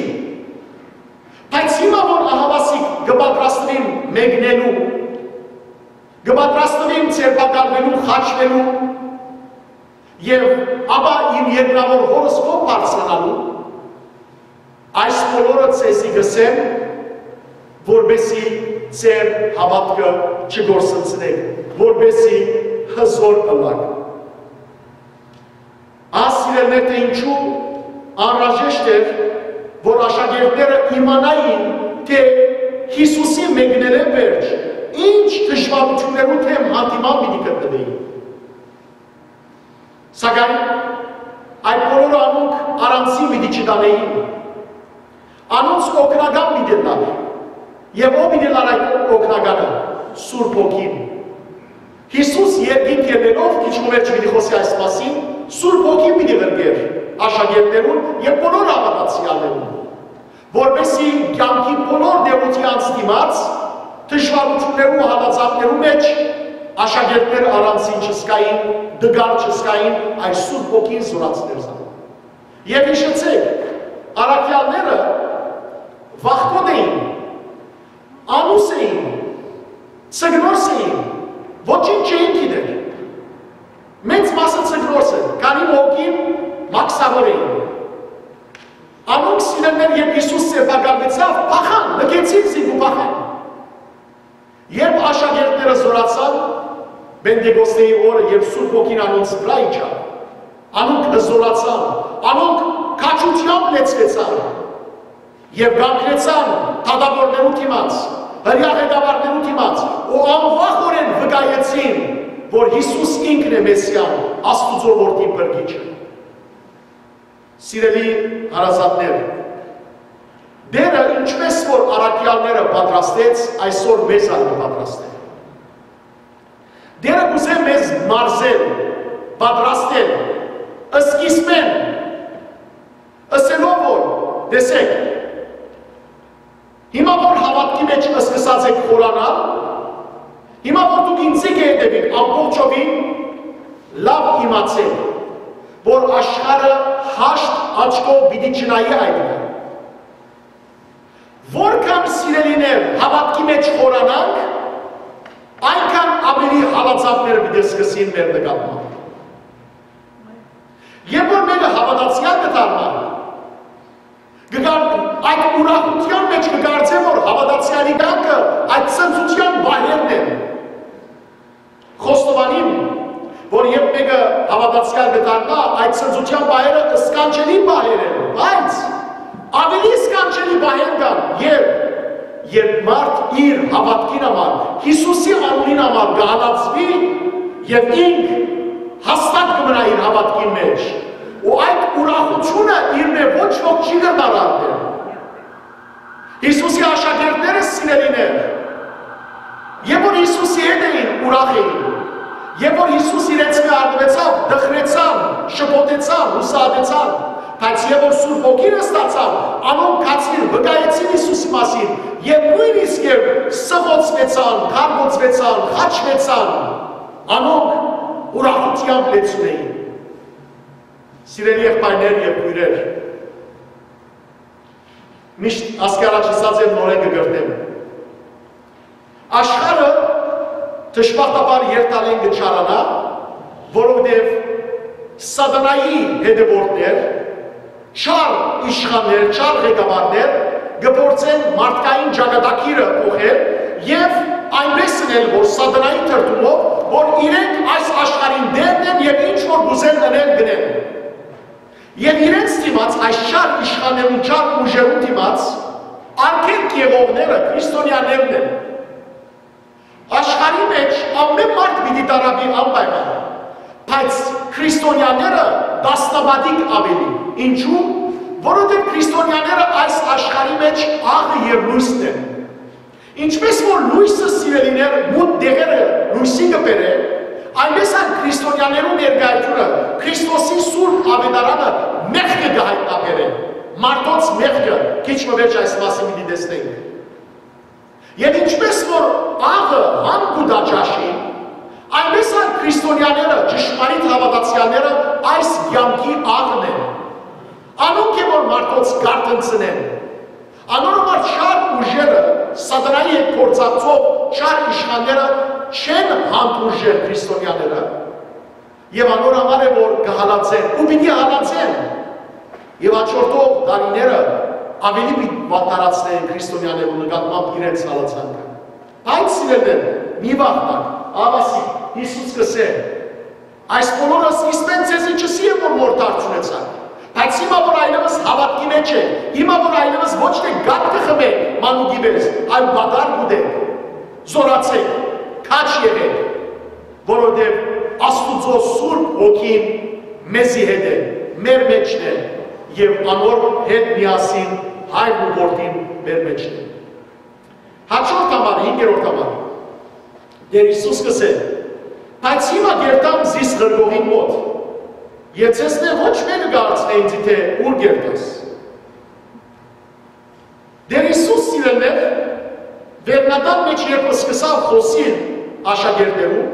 բայց հիմա որ ահաւասիկ կը պատրաստուիմ մեկնելու, կը պատրաստուիմ ձերբակալուելու, խաչուելու եւ ապա իմ երկրաւոր հօրս քով բարձրանալու, այս բոլորը ձեզի կ'ըսեմ, որպեսզի ձեր հաւատքը չկորսնցնէք, որպեսզի հզօր ըլլաք։ Ահա, սիրելիներ, թէ ինչու անհրաժեշտ էր, որ աշակերտները իմանային, թէ Յիսուսի մեկնելէն վերջ ինչ դժուարութիւններու դէմ յանդիման պիտի գտնուէին։ Սակայն այդ բոլորը անոնք առանձին պիտի չտանէին։ Անոնց օգնական պիտի ըլլար։ Եւ ո՞վ պիտի ըլլար այդ օգնականը։ Սուրբ Հոգին։ Յիսուս երկինք ելլելով, քիչ մը վերջ պիտի խօսի այս մասին, Սուրբ Հոգին պիտի ղրկէր աշակերտներուն եւ բոլոր հաւատացեալներուն, որպեսզի կեանքի բոլոր նեղութեանց դիմաց, դժուարութիւններու ու հալածանքներու մէջ աշակերտները առանձին չզգային, տկար չզգային, այլ Սուրբ Հոգին զօրացնէր զանոնք։ Եւ յիշեցէք, առաքեալները վախկոտ էին, անուս էին, ձկնորս էին, ոչինչ չէին գիտեր։ Մեծ մասը ձկնորս էր, քանի մը հոգին մաքսաւոր էին։ Անոնք, սիրելիներ, երբ Յիսուս ձերբակալուեցաւ, փախան, լքեցին զինք ու փախան։ Երբ աշակերտները զօրացան, Պենտեկոստեի օրը, երբ Սուրբ Հոգին անոնց վրայ իջաւ, անոնք զօրացան, անոնք քաջութեամբ լեցուեցան եւ կանգնեցան դատաւորներու դիմաց, հրեայ ղեկավարներու դիմաց ու անվախօրէն վկայեցին, որ Յիսուս ինքն է Մեսիան, Աստուծոյ Որդին, փրկիչը։ Սիրելի հարազատներ, Տէրը ինչպէս որ առաքեալները պատրաստեց, այսօր մեզ ալ կը պատրաստէ։ Տէրը կ'ուզէ մեզ մարզել, պատրաստել, սկիզբէն, ըսելով որ, տեսէք, հիմա որ հաւատքի մէջ սկսած եք խորանալ, հիմա որ դուք ինծի կը հետեւիք ամբողջովին, լաւ իմացէք, որ աշխարհը հաշտ աչքով պիտի չնայի այդ։ Որքան, սիրելիներ, հաւատքի մէջ խորանանք, այնքան աւելի հալածանքները պիտի սկսին մեր նկատմամբ։ Երբ որ մեկը հաւատացեալ կը դառնայ, կը գար-, այդ ուրախութեան մէջ կը կարծէ, որ հաւատացեալի կյանքը այդ ցնծութեան պահերն են։ Խոստովանիմ, որ երբ մեկը հաւատացեալ կը դառնայ, այդ ցնծութեան պահերը սքանչելի պահեր են, բայց աւելի սքանչելի պահեր կան, երբ Երբ մարդ իր հաւատքին համար, Յիսուսի անունին համար կը հալածուի, եւ ինք հաստատ կը մնայ իր հաւատքին մէջ, ու այդ ուրախութիւնը իրմէ ոչ ոք չի կրնար առնել։ Յիսուսի աշակերտները, սիրելիներ, երբ որ Յիսուսի հետ էին, ուրախ էին, երբ որ Յիսուս իրենց մէ առնուեցաւ, տխրեցան, շփոթեցան, յուսահատեցան, բայց երբ որ Սուրբ Հոգին ստացան, անոնք գացին, վկայեցին Յիսուսի մասին, եւ նոյնիսկ երբ սղոցուեցան, քարկոծուեցան, խաչուեցան, անոնք ուրախութեամբ լեցուն էին։ Սիրելի եղբայրներ եւ քոյրեր, միշտ ասկի առաջ ըսած եմ, նորէն կը կրթեմ։ Աշխարհը դժբախտաբար երթալէն կը չարանայ, որովհետեւ Սատանայի հետեւորդներ, չար իշխաններ, չար ղեկավարներ կը փորձեն մարդկային ճակատագիրը փոխել եւ այնպես ընել, որ Սատանայի թրթումով, որ իրենք այս աշխարհին տէրն են եւ ինչ որ կ'ուզեն ընել, կ'ընեն։ Եւ իրենց դիմաց, այս չար իշխաններուն, չար ուժերուն դիմաց արգելք եղողները քրիստոնեաներն են։ Աշխարհի մէջ ամէն մարդ պիտի տառապի անպայման, բայց քրիստոնեաները տասնապատիկ աւելի։ Ինչու՞։ Որովհետեւ քրիստոնեաները այս աշխարհի մէջ աղը եւ լոյսն են։ Ինչպէս որ լոյսը, սիրելիներ, մութ տեղերը լոյսի կը բերէ, այնպէս ալ քրիստոնեաներու ներկայութիւնը, Քրիստոսի սուրբ աւետարանը մեղքը կը յայտնաբերէ, մարդոց մեղքը, քիչ մը վերջ այս մասին պիտի տեսնենք։ Եւ ինչպէս որ աղը հան կու տայ ճաշին, այնպէս ալ քրիստոնեաները, ճշմարիտ հաւատացեալները այս կեանքի աղն են։ Անոնք է որ մարդոց կարթնցնեն։ Անոր համար չար ուժերը, Սատանայի հետ գործակցող չար իշխանները չեն հանդուրժեր քրիստոնեաները, եւ անոր համար է որ կը հալածեն ու պիտի հալածեն, եւ հաջորդող տարիները աւելի պիտի վատթարացնեն քրիստոնեաներու նկատմամբ իրենց հալածանքը։ Բայց, սիրելիներ, մի վախնաք, ահա Յիսուս կ'ըսէ. «Այս բոլորս իսպէն ձեզի չըսի եմ որ մորթ արդիւնեցաք, բայց հիմա որ այլեւս հաւատքի մէջ եք, հիմա որ այլեւս ոչ թէ կաթ կը խմէք մանուկի պէս, այլ պատառ կ'ուտէք, զօրացէք, քաջ եղէք, որովհետեւ Աստուծոյ Սուրբ Հոգին մեզի հետ է, մեր մէջն է, եւ անոր հետ միասին Հայրն ու Որդին մեր մէջն է»։ Հաջորդ համար, հինգերորդ համար, Տէր Յիսուս կ'ըսէ. «Բայց հիմա կ'երթամ զիս ղրկողին մօտ, եւ ձեզմէ ոչ մէկը կ'արցնէ ինծի թէ ո՞ւր կ'երթաս»։ Տէր Յիսուս, սիրելիներ, վերնատան մէջ երբ սկսաւ խօսիլ աշակերտներուն,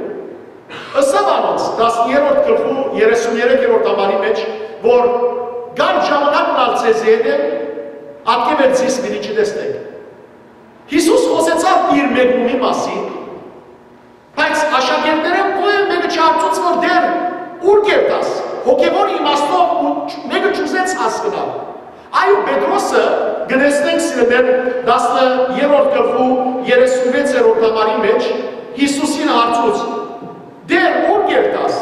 ըսաւ անոնց, տասներորդ գլխու երեսուն երեքերորդ համարի մէջ, որ կար ժամանակն ալ ձեզի հետ է, ատկէ վեր զիս պիտի չտեսնէք։ Յիսուս խօսեցաւ իր մեկնումի մասին, բայց աշակերտներէն կոյ մէկը չհարցուց որ Տէր, ո՞ւր կ'երթաս, հոգեւոր իմաստով ու չ-, մէկը չուզեց հասկնալ։ Այո, Պետրոսը, կը տեսնենք, սիրելիներ, տասներորդ գլխու երեսունվեցերորդ համարի մէջ Յիսուսին հարցուց. «Տէր, ո՞ւր կ'երթաս»։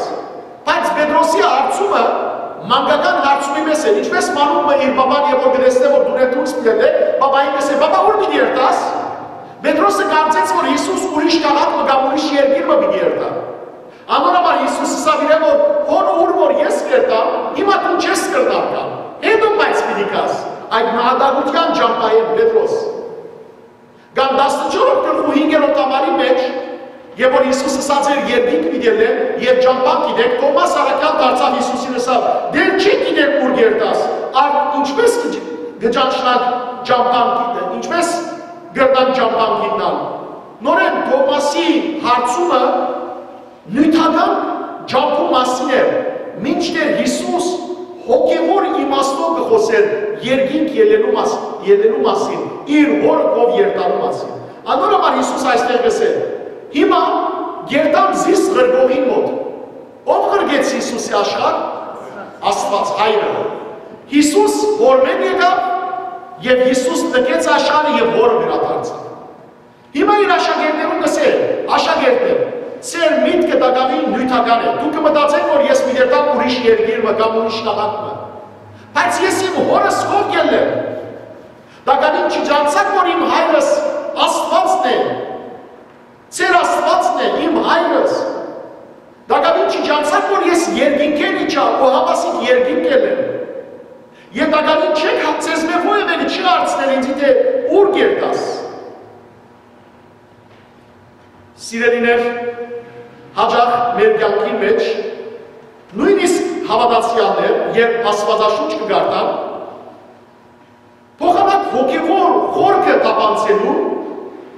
Բայց Պետրոսի հարցումը մանկական հարցումի պէս է, ինչպէս մանուկ մը իր պապան երբ որ կը տեսնէ որ դուռէն դուրս պիտի ելլէ, պապային կ'ըսէ. «Պապա, ո՞ւր պիտի երթաս»։ Պետրոսը կարծեց որ Յիսուս ուրիշ քաղաք մը կամ ուրիշ երկիր մը պիտի երթայ։ Անոր համար Յիսուս ըսաւ իրեն որ հոն ո՞ւր որ ես կ'երթամ, հիմա դուն չես կրնար գալ, հետո բայց պիտի գաս, այդ նահատակութեան ճամբայէն, Պետրոս։ Կամ տասնչորսերորդ գլխու հինգերորդ համարի մէջ, երբ որ Յիսուս ըսած էր. «Երկինք պիտի ելլեմ եւ ճամբան գիտեք», Թովմաս առաքեալ դարձաւ Յիսուսին, ըսաւ. «Տէր, չենք գիտեր ո՞ւր կ'երթաս, արդ ինչպէս կը ջ-, կը ճանչնանք ճամբան գիտ-, ինչպէս կրնանք ճամբան գիտնալ»։ Նորէն Թովմասի հարցումը նիւթական ճամբու մասին էր, մինչդեռ Յիսուս հոգեւոր իմաստով կը խօսէր երկինք ելլելու մաս-, ելլելու մասին, իր հօրը քով երթալու մասին։ Անոր համար Յիսուս այստեղ կ'ըսէ. «Հիմա կ'երթամ զիս ղրկողին մօտ»։ Ո՞վ ղրկեց Յիսուսի աշխարհ։ Աստուած Հայրը։ Յիսուս հօրմէն եկաւ եւ Յիսուս լքեց աշխարհը եւ հօրը վերադարձաւ։ Հիմա իր աշակերտներուն կ'ըսէ. «Աշակերտներ, ձեր միտքը տակաւին նիւթական է։ Դուք կը մտածէք որ ես պիտի երթամ ուրիշ երկիր մը կամ ուրիշ քաղաք մը։ Բայց ես իմ հօրս քով կ'ելլեմ։ Տակաւին չի ճանչցաք որ իմ հայրս Սիրելիներ, հաճախ մեր կեանքին մէջ, նոյնիսկ հաւատացեալներ, երբ Աստուածաշունչ կը կարդան, փոխանակ հոգեւոր խորքը թափանցելու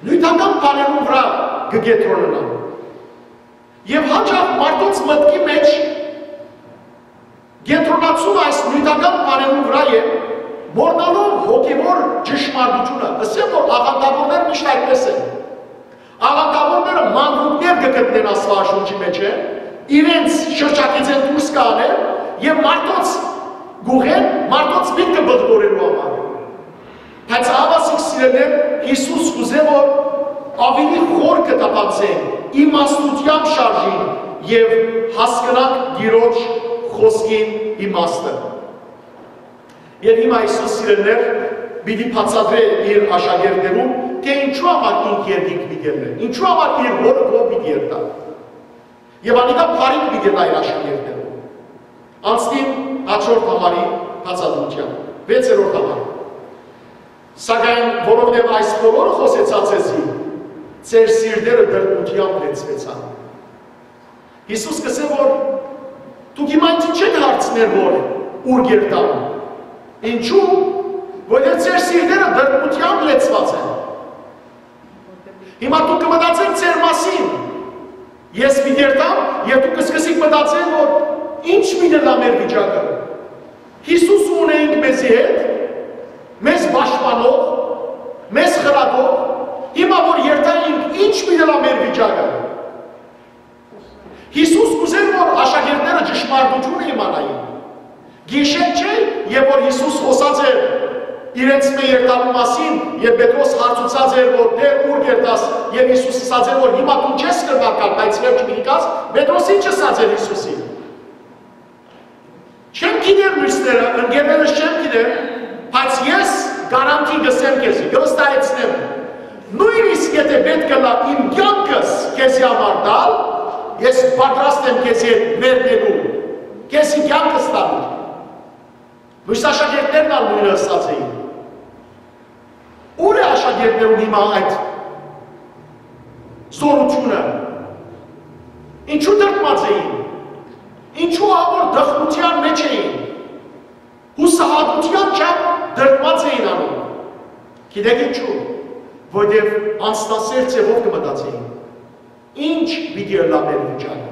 նիւթական բաներուն վրայ կը կեդրոնանան։ Եւ հաճախ մարդոց մտքի մէջ կեդրոնացումը այս նիւթական բաներուն վրայ է, մոռնալով հոգեւոր ճշմարտութիւնը։ Ըսեմ, որ աղանդաւորներ միշտ այդպես են։ Աղանդաւորները մանրուքներ կը գտնեն Աստուածաշունչի մէջ, իրենց շրջագիծէն դուրս կ'անեն եւ մարդոց գուղեն, մարդոց միտքը բղտորելու համար։ Բայց ահա, սիրելիներ, Յիսուս կ'ուզէ, որ աւելի խորքը թափանցենք, իմաստութեամբ շարժինք եւ հասկնանք Տիրոջ խօսքին իմաստը։ Եւ հիմա Յիսուս, սիրելիներ, պիտի բացատրէ իր աշակերտներուն, թէ ինչու համար ինք երկինք պիտի ելնէ, ինչու համար իր հօրը քով պիտի երթայ։ Եւ անիկա բարիք պիտի ըլլայ իր աշակերտներուն։ Անցնին հաջորդ համարի բացատրութեան, վեցերորդ համար։ Սակայն որովհետեւ այս բոլորը խօսեցայ ձեզի, ձեր սիրտերը տրտմութեամբ լեցուեցան։ Յիսուս կ'ըսէ, որ դուք հիմա ինձ չեք հարցներ, որ ո՞ւր կ'երթամ։ Ինչու՞, որովհետեւ ձեր սիրտերը տրտմութեամբ լեցուած են։ Հիմա դուք կը մտածէք ձեր մասին։ Ես պիտի երթամ, եւ դուք կսկսիք մտածել, որ ի՞նչ պիտի ըլլայ մեր վիճակը։ Յիսուս ունենք մեզի հետ, մեզ պաշտպանող, մեզ խրատող, հիմա որ երթայինք, ի՞նչ պիտի ըլլայ մեր վիճակը։ Յիսուս կ'ուզէր, որ աշակերտները ճշմարտութիւնը իմանային։ Գիշեր չէ, եւ որ Յիսուս խօսած էր իրենց մէ երթալու մասին, եւ Պետրոս հարցուցած էր, որ «Տէր, ո՞ւր կ'երթաս», եւ Յիսուս ըսած էր, որ «Հիմա դուն չես կրնար գալ, բայց վերջը պիտի գաս»։ Պետրոս ի՞նչ ըսած էր Յիսուսին։ «Չեմ գիտեր մյուսները, ընկերներս չեմ գիտեր, բայց ես գարանթի կ'ըսեմ քեզի, կը վստահեցնեմ, նոյնիսկ եթէ պէտք ըլլայ իմ կեանքս քեզի համար տալ, ես պատրաստ եմ քեզի հետ մեռնելու, քեզի կեանքս տալու»։ Մյուս աշակերտներն ալ նոյնը ըսած էին։ Ո՞ւր է աշակերտներուն հիմա այդ զօրութիւնը։ Ինչու դրդմած էին։ Ինչու ահա որ տխրութեան մէջ էին։ Յուսահատութեան չափ դրդմած էին անոնք։ Գիտեք ինչու։ Որովհետեւ անձնասեր ձեւով կը մտածեին։ Ի՞նչ պիտի ըլլայ մեր վիճակը։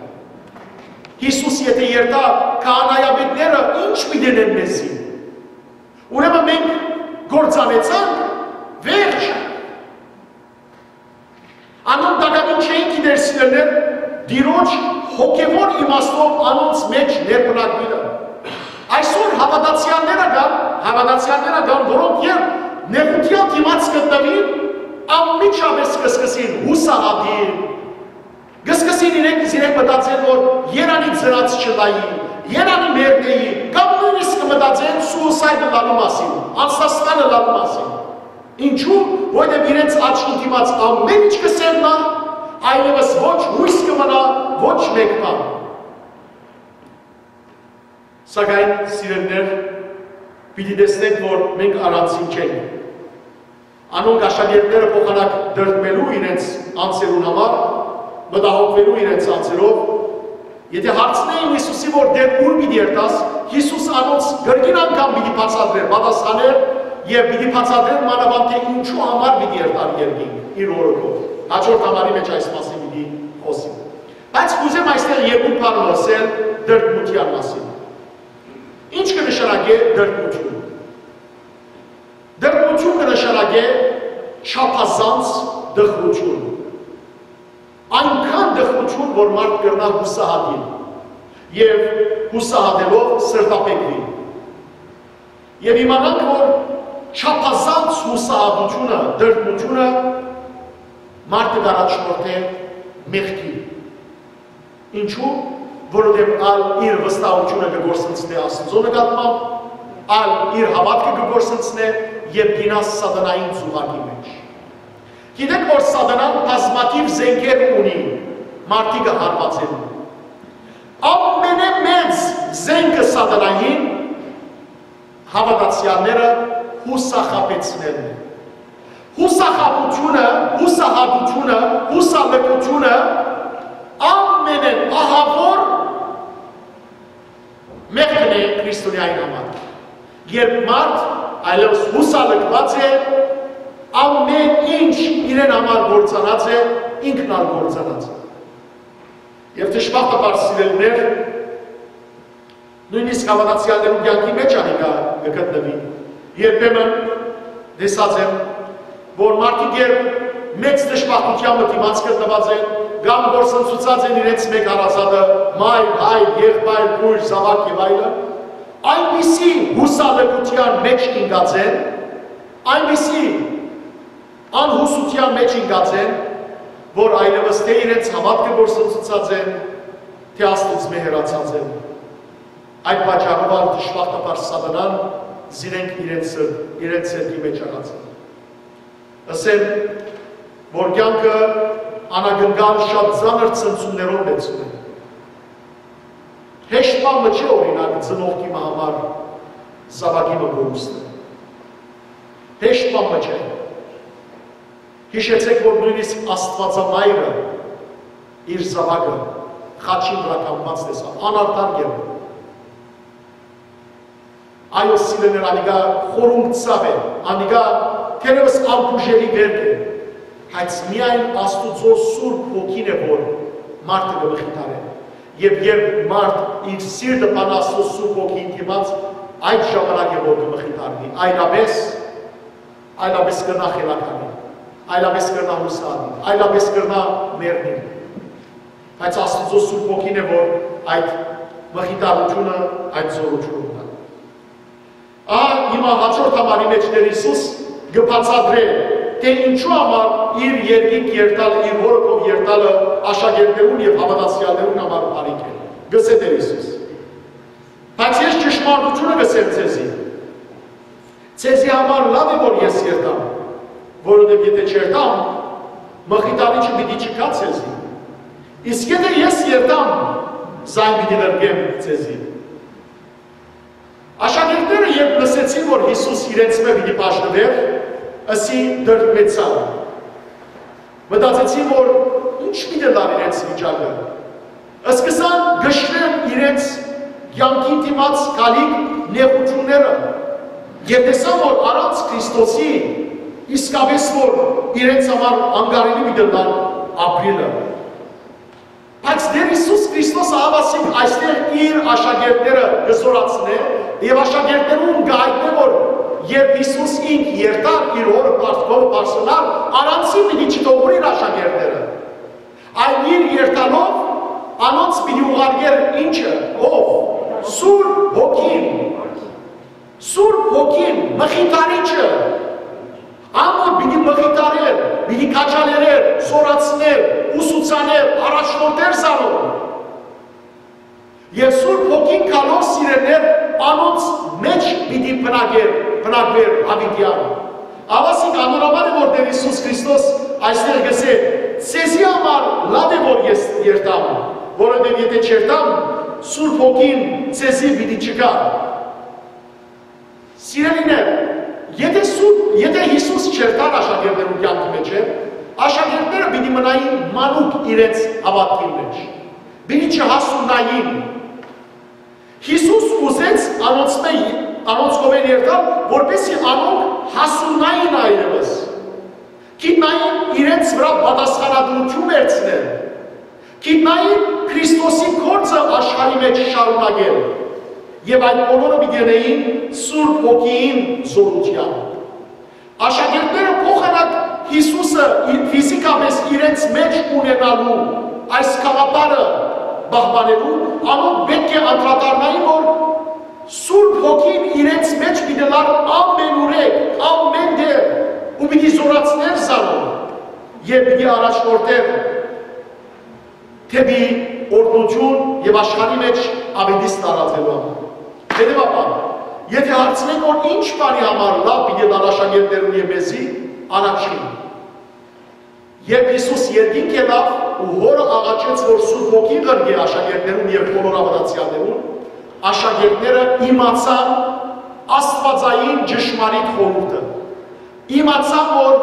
Յիսուս եթէ երթայ, քահանայապետները ի՞նչ պիտի ընեն մեզի։ Ուրեմն մենք կործանեցանք, վերջ։ Անոնք տակաւին չէին գիտեր, սիրելիներ, Տիրոջ հոգեւոր իմաստով անոնց մէջ ներբնակուիլը։ Այսօր հաւատացեալները կան, հաւատացեալները կան, որոնք երբ նեղութեան դիմաց գտնուին, անմիջապէս կը սկսին յուսահատիլ, կը սկսին իրենք, իրենք մտածել, որ երանի ծնած չըլլայի, երանի մեռնէի, կամ նոյնիսկ կը մտածեն սուիսայդ ըլլալու մասին, անձնասպան ըլլալու մասին։ Ինչու՞, որովհետեւ իրենց աչքին դիմաց ամէն ինչ կը սերնայ, այլեւս ոչ յոյս կը մնայ, ոչ մէկ բան։ Սակայն, սիրելիներ, պիտի տեսնենք, որ մենք առանձին չենք։ Անոնք աշակերտները փոխանակ դրդմելու իրենց անձերուն համար, մտահոգուելու իրենց անձերով, եթէ հարցնէին Յիսուսի, որ դեռ ո՞ւր պիտի երթաս, Յիսուս անոնց կրկին անգամ պիտի բացատրէր, պատասխանէր եւ պիտի բացատրէր մանաւանդ, թէ ինչու համար պիտի երթար երկինք իր օրոքով։ Հաջորդ համարի մէջ այս մասին պիտի խօսի։ Բայց կ'ուզեմ այստեղ երկու բառ ըսել դրդմութեան մասին։ Ի՞նչ կը նշանակէ դրդմութիւն։ Դրդմութիւն կը նշանակէ չափազանց տխրութիւն։ Այնքան տխրութիւն, որ մարդ կրնայ յուսահատիլ եւ յուսահատելով սրտաբեկուի։ Եւ իմանանք, որ չափազանց յուսահատութիւնը, դրդմութիւնը մարդը կ'առաջնորդէ մեղքի։ Ինչու՞, որովհետեւ ալ իր վստահութիւնը կը կորսնցնէ Աստուծոյ նկատմամբ, ալ իր հաւատքը կը կորսնցնէ եւ դինաս սատանային ծուղակի մէջ։ Գիտեք, որ սատանան բազմաթիւ զենքեր ունի մարդիկը հարվածելու։ Ամենէ մեծ զենքը սատանային հաւատացեալները յուսախաբեցնելն է։ Յուսախաբութիւնը, յուսահատութիւնը, յուսալքութիւնը Ամենէն ահաւոր մեղքն է քրիստոնեային համար։ Երբ մարդ այլեւս յուսալքուած է, ամեն ինչ իրեն համար գործանած է, ինքն ալ գործանած է։ Եւ դժբախտաբար, սիրելիներ, նոյնիսկ հաւատացեալներուն կեանքի մէջ անիկա կը գտնուի։ Երբեմն տեսած եմ, որ մարդիկ, երբ մեծ դժբախտութեան մը դիմաց գտնուած են, կամ կորսնցուցած են իրենց մէկ հարազատը, մայր, հայր, եղբայր, քոյր, զաւակ եւ այլն, այնպիսի յուսալքութեան մէջ ինկած են, այնպիսի անհուսութեան մէջ ինկած են, որ այլեւս թէ իրենց հաւատքը կորսնցուցած են, թէ Աստուծմէ հեռացած են։ Այդ պատճառով ալ դժբախտաբար սատանան զիրենք իրենց, իրենց սերկի մէջ աղած է։ Ըսեմ, որ կեանքը անակնկալ շատ ծանր ցնցումներով լեցուն է։ Հեշտ բան մը չէ, օրինակ, ծնողքի մը համար զաւակի մը կորուստը։ Հեշտ բան մը չէ։ Յիշեցէք, որ նոյնիսկ Աստուածամայրը իր զաւակը խաչին վրայ կամուած տեսաւ, անարդար կերպով։ Այո, սիրելիներ, անիկա խորունկ ցաւ է, անիկա թերեւս անբուժելի վերք է, բայց միայն Աստուծոյ Սուրբ Հոգին է, որ մարդը կը մխիթարէ։ Եւ երբ մարդ իր սիրտը բան Աստուծոյ Սուրբ Հոգին դիմաց, այդ ժամանակ է, որ կը մխիթարնի, այլապէս, այլապէս կրնայ խելագարի, այլապէս կրնայ յուսալի, այլապէս կրնայ մեռնի։ Բայց Աստուծոյ Սուրբ Հոգին է, որ այդ մխիթարութիւնը, այդ զօրութիւնը ունի։ Ահա հիմա հաջորդ համարի մէջ Տէր Յիսուս կը բացատրէ, թէ ինչու համար իր երկինք երթալը, իր հօրը քով երթալը աշակերտներուն եւ հաւատացեալներուն համար բարիք է։ Գսէ Տէր Յիսուս. «Բայց ես ճշմարտութիւնը կ'ըսեմ ձեզի. ձեզի համար լաւ է, որ ես երթամ, որովհետեւ եթէ չերթամ, մխիթարիչը պիտի չգայ ձեզի։ Իսկ եթէ ես երթամ, զայն պիտի ղրկեմ ձեզի»։ Աշակերտները, երբ լսեցին, որ Յիսուս իրենցմէ պիտի բաժնուէր, ըսի դրդմեցան։ Մտածեցին, որ ինչ պիտի ըլլար իրենց վիճակը։ Սկսան կշռել իրենց կեանքին դիմաց գալիք նեղութիւնները եւ տեսան, որ առանց Քրիստոսի իսկապէս որ իրենց համար անկարելի պիտի ըլլար ապրիլը։ Բայց Տէր Յիսուս Քրիստոս ահաւասիկ այստեղ իր աշակերտները կը զօրացնէ եւ աշակերտներուն կը հայտնէ, որ երբ Յիսուս ինք երթար, իր հօրը բարդքովը բարձրանար, առանցին պիտի չթողուր իր աշակերտները։ Այլ իր երթալով անոնց պիտի ուղարկէր ինչը, ով, Սուրբ Հոգին։ Սուրբ Հոգին, մխիթարիչը, ան որ պիտի մխիթարէր, պիտի քաջալերէր, զօրացնէր, ուսուցանէր, առաջնորդէր զանոնք։ Եւ Սուրբ Հոգին գալով, սիրելիներ, անոնց մէջ պիտի բնակեր, բնակվեր յաւիտեան։ Ահաւասիկ անոր համար է, որ Տէր Յիսուս Քրիստոս այստեղ կ'ըսէ. «Ձեզի համար լաւ է, որ ես երթամ, որովհետեւ եթէ չերթամ, Սուրբ Հոգին ձեզի պիտի չգայ»։ Սիրելիներ, եթէ Սուրբ, եթէ Յիսուս չերթար աշակերտներուն կեանքի մէջ, աշակերտները պիտի մնային մանուկ իրենց հաւատքին մէջ, պիտի չհասուննային։ Յիսուս ուզեց անոնցմէ, անոնց կողմէն երթալ, որպեսզի անոնք հասուննային այլեւս, գիտնային իրենց վրայ պատասխանատուութիւն վերցնել, գիտնային Քրիստոսի գործը աշխարհի մէջ շարունակել, եւ այդ բոլորը պիտի ընէին Սուրբ Հոգիին զօրութեան։ Աշակերտները փոխանակ Յիսուսը իր, ֆիզիկապէս իրենց մէջ ունենալու այս գաղափարը պահպանելու, անոնք պէտք է անդրադառնային, որ Սուրբ Հոգին իրենց մէջ պիտի ըլլար ամենուրեք, ամեն տեղ, ու պիտի զօրացնէր զանոնք եւ պիտի առաջնորդէր դէպի օրհնութիւն եւ աշխարհի մէջ աւետիս տարածելու համար։ Հետեւաբար, եթէ հարցնենք, որ ինչ բանի համար լաւ պիտի ըլլար աշակերտներուն եւ մեզի, առաջին, երբ Յիսուս երկինք ելաւ ու Հօրը աղաչեց, որ Սուրբ Հոգին ղրկէ աշակերտներուն եւ բոլոր հաւատացեալներուն, աշակերտները իմացան աստուածային ճշմարիտ խորհուրդը։ Իմացան, որ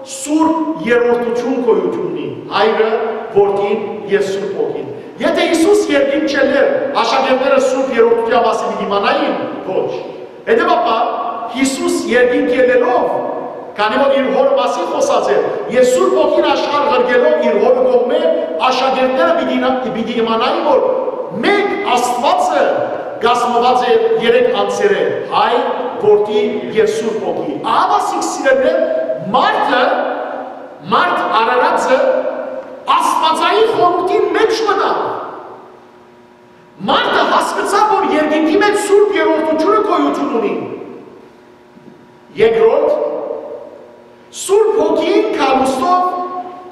Սուրբ երրորդութիւն գոյութիւն ունի, Հայրը, Որդին եւ Սուրբ Հոգին։ Եթէ Յիսուս երկինք չելլէր, աշակերտները Սուրբ Երրորդութեան մասին պիտի իմանային։ Ոչ։ Հետեւաբար, Յիսուս երկինք ելլելով, քանի որ իր Հօրը մասին խօսած էր, եւ Սուրբ Հոգին աշխարհ ղրկելով իր Հօրը կողմէ, աշակերտները պիտի, պիտի իմանային, որ մէկ Աստուածը կազմուած է երեք անձերէ՝ Հայր, Որդի եւ Սուրբ Հոգի։ Ահա, սիրելիներ, մարդը, մարդ Արարածը Աստուածային խորհուրդին մէջ մտաւ։ Մարդը հասկցաւ, որ երկինքի մէջ Սուրբ Երրորդութիւնը գոյութիւն ունի։ Երկրորդ, Սուրբ Հոգին գալուստով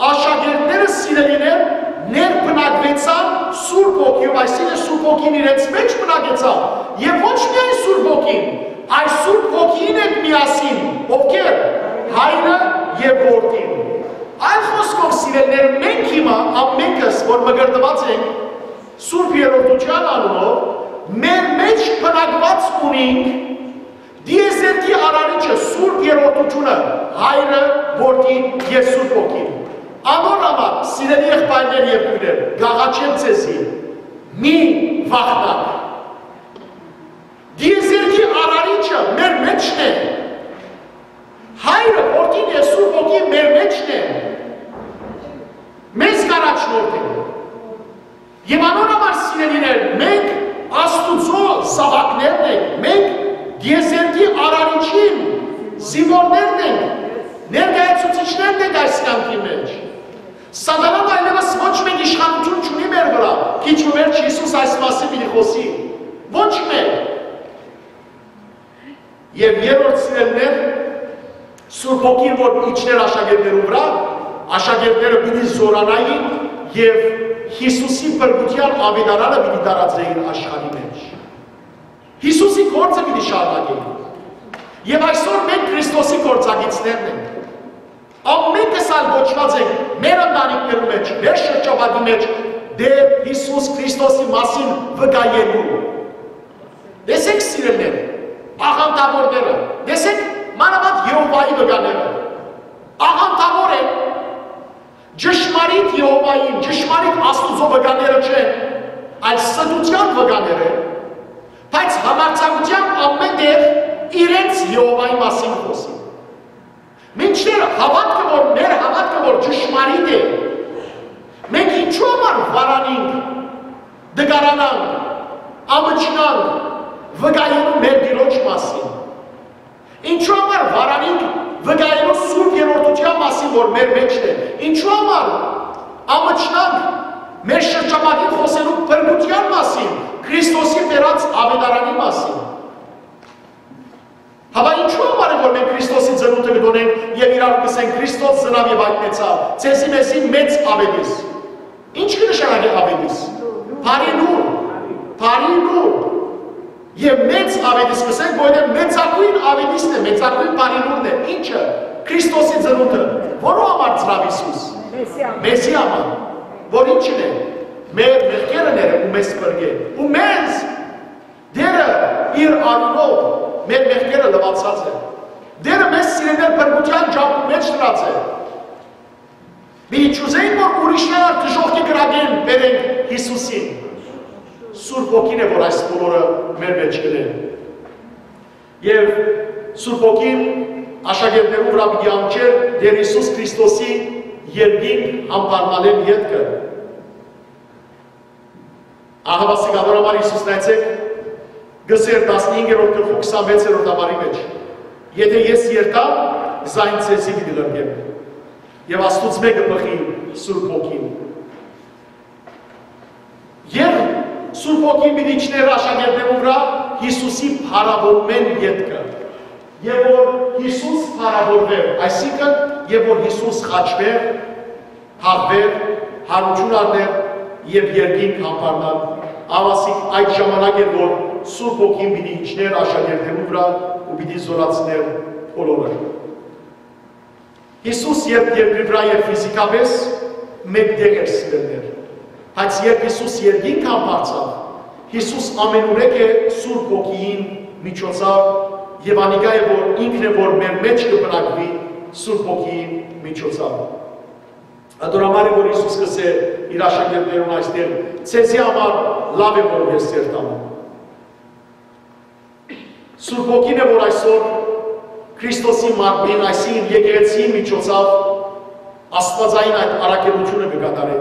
աշակերտները, սիրելիներ, ներբնակվեցան Սուրբ Հոգիով, այսինքն՝ Սուրբ Հոգին իրենց մէջ բնակեցաւ, եւ ոչ միայն Սուրբ Հոգին, այլ Սուրբ Հոգին հետ միասին, ովքեր՝ Հայրը եւ Որդին։ Այլ խօսքով, սիրելիներ, մենք հիմա ամենքս, որ մկրտուած ենք Սուրբ Երրորդութեան անունով, մեր մէջ բնակուած ունինք Տիեզերքի Արարիչը, Սուրբ Երրորդութիւնը, Հայրը, Որդին եւ Սուրբ Հոգին։ Անոր համար, սիրելի եղբայրներ եւ քոյրեր, կ'աղաչեմ ձեզի, մի վախնաք։ Տիեզերքի Արարիչը մեր մէջն է։ Հայրը, Որդին եւ Սուրբ Հոգին մեր մէջն է։ Մեզ կ'առաջնորդեն։ Եւ անոր համար, սիրելիներ, մենք Աստուծոյ զաւակներն ենք, մենք Տիեզերքի Արարիչին զինուորներն ենք, ներկայացուցիչներն ենք այս կեանքի մէջ։ Սատանան այլեւս ոչ մէկ իշխանութիւն չունի մեր վրայ, քիչ մը վերջ Յիսուս այս մասին պիտի խօսի։ Ոչ մէկ։ Եւ երրորդ, սիրելիներ, Սուրբ Հոգին որ իջնէր աշակերտներուն վրայ, աշակերտները պիտի զօրանային եւ Յիսուսի փրկութեան աւետարանը պիտի տարածէին աշխարհի մէջ։ Յիսուսի գործը պիտի շարունակէին։ Եւ այսօր մենք Քրիստոսի գործակիցներն ենք։ Ամենքս ալ կոչուած ենք մեր ընտանիքներու մէջ, մեր շրջապատի մէջ Տէր Յիսուս Քրիստոսի մասին վկայելու։ Տեսեք, սիրելիներ, աղանդավորները, տեսեք, մանաւանդ Եհովայի վկաները, աղանդավոր են, ճշմարիտ Եհովային, ճշմարիտ Աստուծոյ վկաները չեն, այլ ստութեան վկաներ են, բայց համարձակութեամբ ամեն տեղ իրենց Եհովայի մասին խօսին։ Մինչդեռ հաւատքը, որ մեր հաւատքը, որ ճշմարիտ է, մենք ինչու համար վարանինք, դգարանանք, ամչնանք վկայելու մեր Տիրոջ մասին։ Ինչու համար վարանինք վկայելու Սուրբ Երրորդութեան մասին, որ մեր մէջն է։ Ինչու համար ամչնանք մեր շրջապատին խօսելու փրկութեան մասին, Քրիստոսի բերած աւետարանի մասին։ Հապա ինչու համար է, որ մենք Քրիստոսի ծնունդը կը տոնենք եւ իրարու կ'ըսենք. «Քրիստոս ծնաւ եւ յայտնեցաւ, ձեզի մեզի մեծ աւետիս»։ Ի՞նչ կը նշանակէ աւետիս։ Բարի լուր, բարի լուր։ Եւ մեծ աւետիս կ'ըսենք, որովհետեւ մեծագոյն աւետիսն է, մեծագոյն բարի լուրն է։ Ի՞նչը։ Քրիստոսի ծնունդը։ Որու համար ծնաւ Յիսուս։ Մեզի համար։ Որ ի՞նչն է։ Մեր մեղքերը ները ու մեզ փրկե։ Ու մեզ Տերը իր արիւնով մեր մեղքերը լուացած է։ Տերը մեզ, սիրելիներ, փրկութեան ճամբու մէջ դրած է։ Մի չուզենք, որ ուրիշներ ալ դժոխքի կրակէն բերենք Յիսուսին։ Սուրբ Հոգին է, որ այս բոլորը մեր մէջ կ'ընէ։ Եւ Սուրբ Հոգին աշակերտներուն վրայ պիտի անջէր Տէր Յիսուս Քրիստոսի երկինք համբարնալէն ետքը։ Ահա, ասիկա, որ համար Յիսուս, նայեցեք, կ'ըսէր տասնհինգերորդ գլխու քսանվեցերորդ համարի մէջ. «Եթէ ես երթամ, զայն ձեզի պիտի ղրկեմ»։ Եւ Աստուծմէ կը բխի Սուրբ Հոգին։ Եւ Սուրբ Հոգին պիտի իջնէր աշակերտներուն վրայ Յիսուսի փառաւորմէն ետքը։ Եւ որ Յիսուս փառաւորուէր, այսինքն, եւ որ Յիսուս խաչուէր, թաղուէր, յարութիւն առնէր եւ երկինք համբարնար, ահա, ասիկ, այդ ժամանակ էր, որ Սուրբ Հոգին պիտի իջնէր աշակերտներուն վրայ ու պիտի զօրացնէր բոլորը։ Յիսուս երբ երկրի վրայ էր, ֆիզիկապէս մէկ տեղ էր, սիրելիներ, բայց երբ Յիսուս երկինք համբարձաւ, Յիսուս ամենուրեք է Սուրբ Հոգիին միջոցաւ, եւ անիկա է, որ ինքն է, որ մեր մէջ կը բնակուի Սուրբ Հոգիին միջոցաւ։ Ատոր համար է որ Յիսուս կ'ըսէ իր աշակերտներուն այստեղ. «Ձեզի համար լաւ է որ ես երթամ»։ Սուրբ Հոգին է որ այսօր Քրիստոսի մարմնին, այսինքն եկեղեցիի միջոցաւ աստվածային այդ առաքելութիւնը կը կատարէ։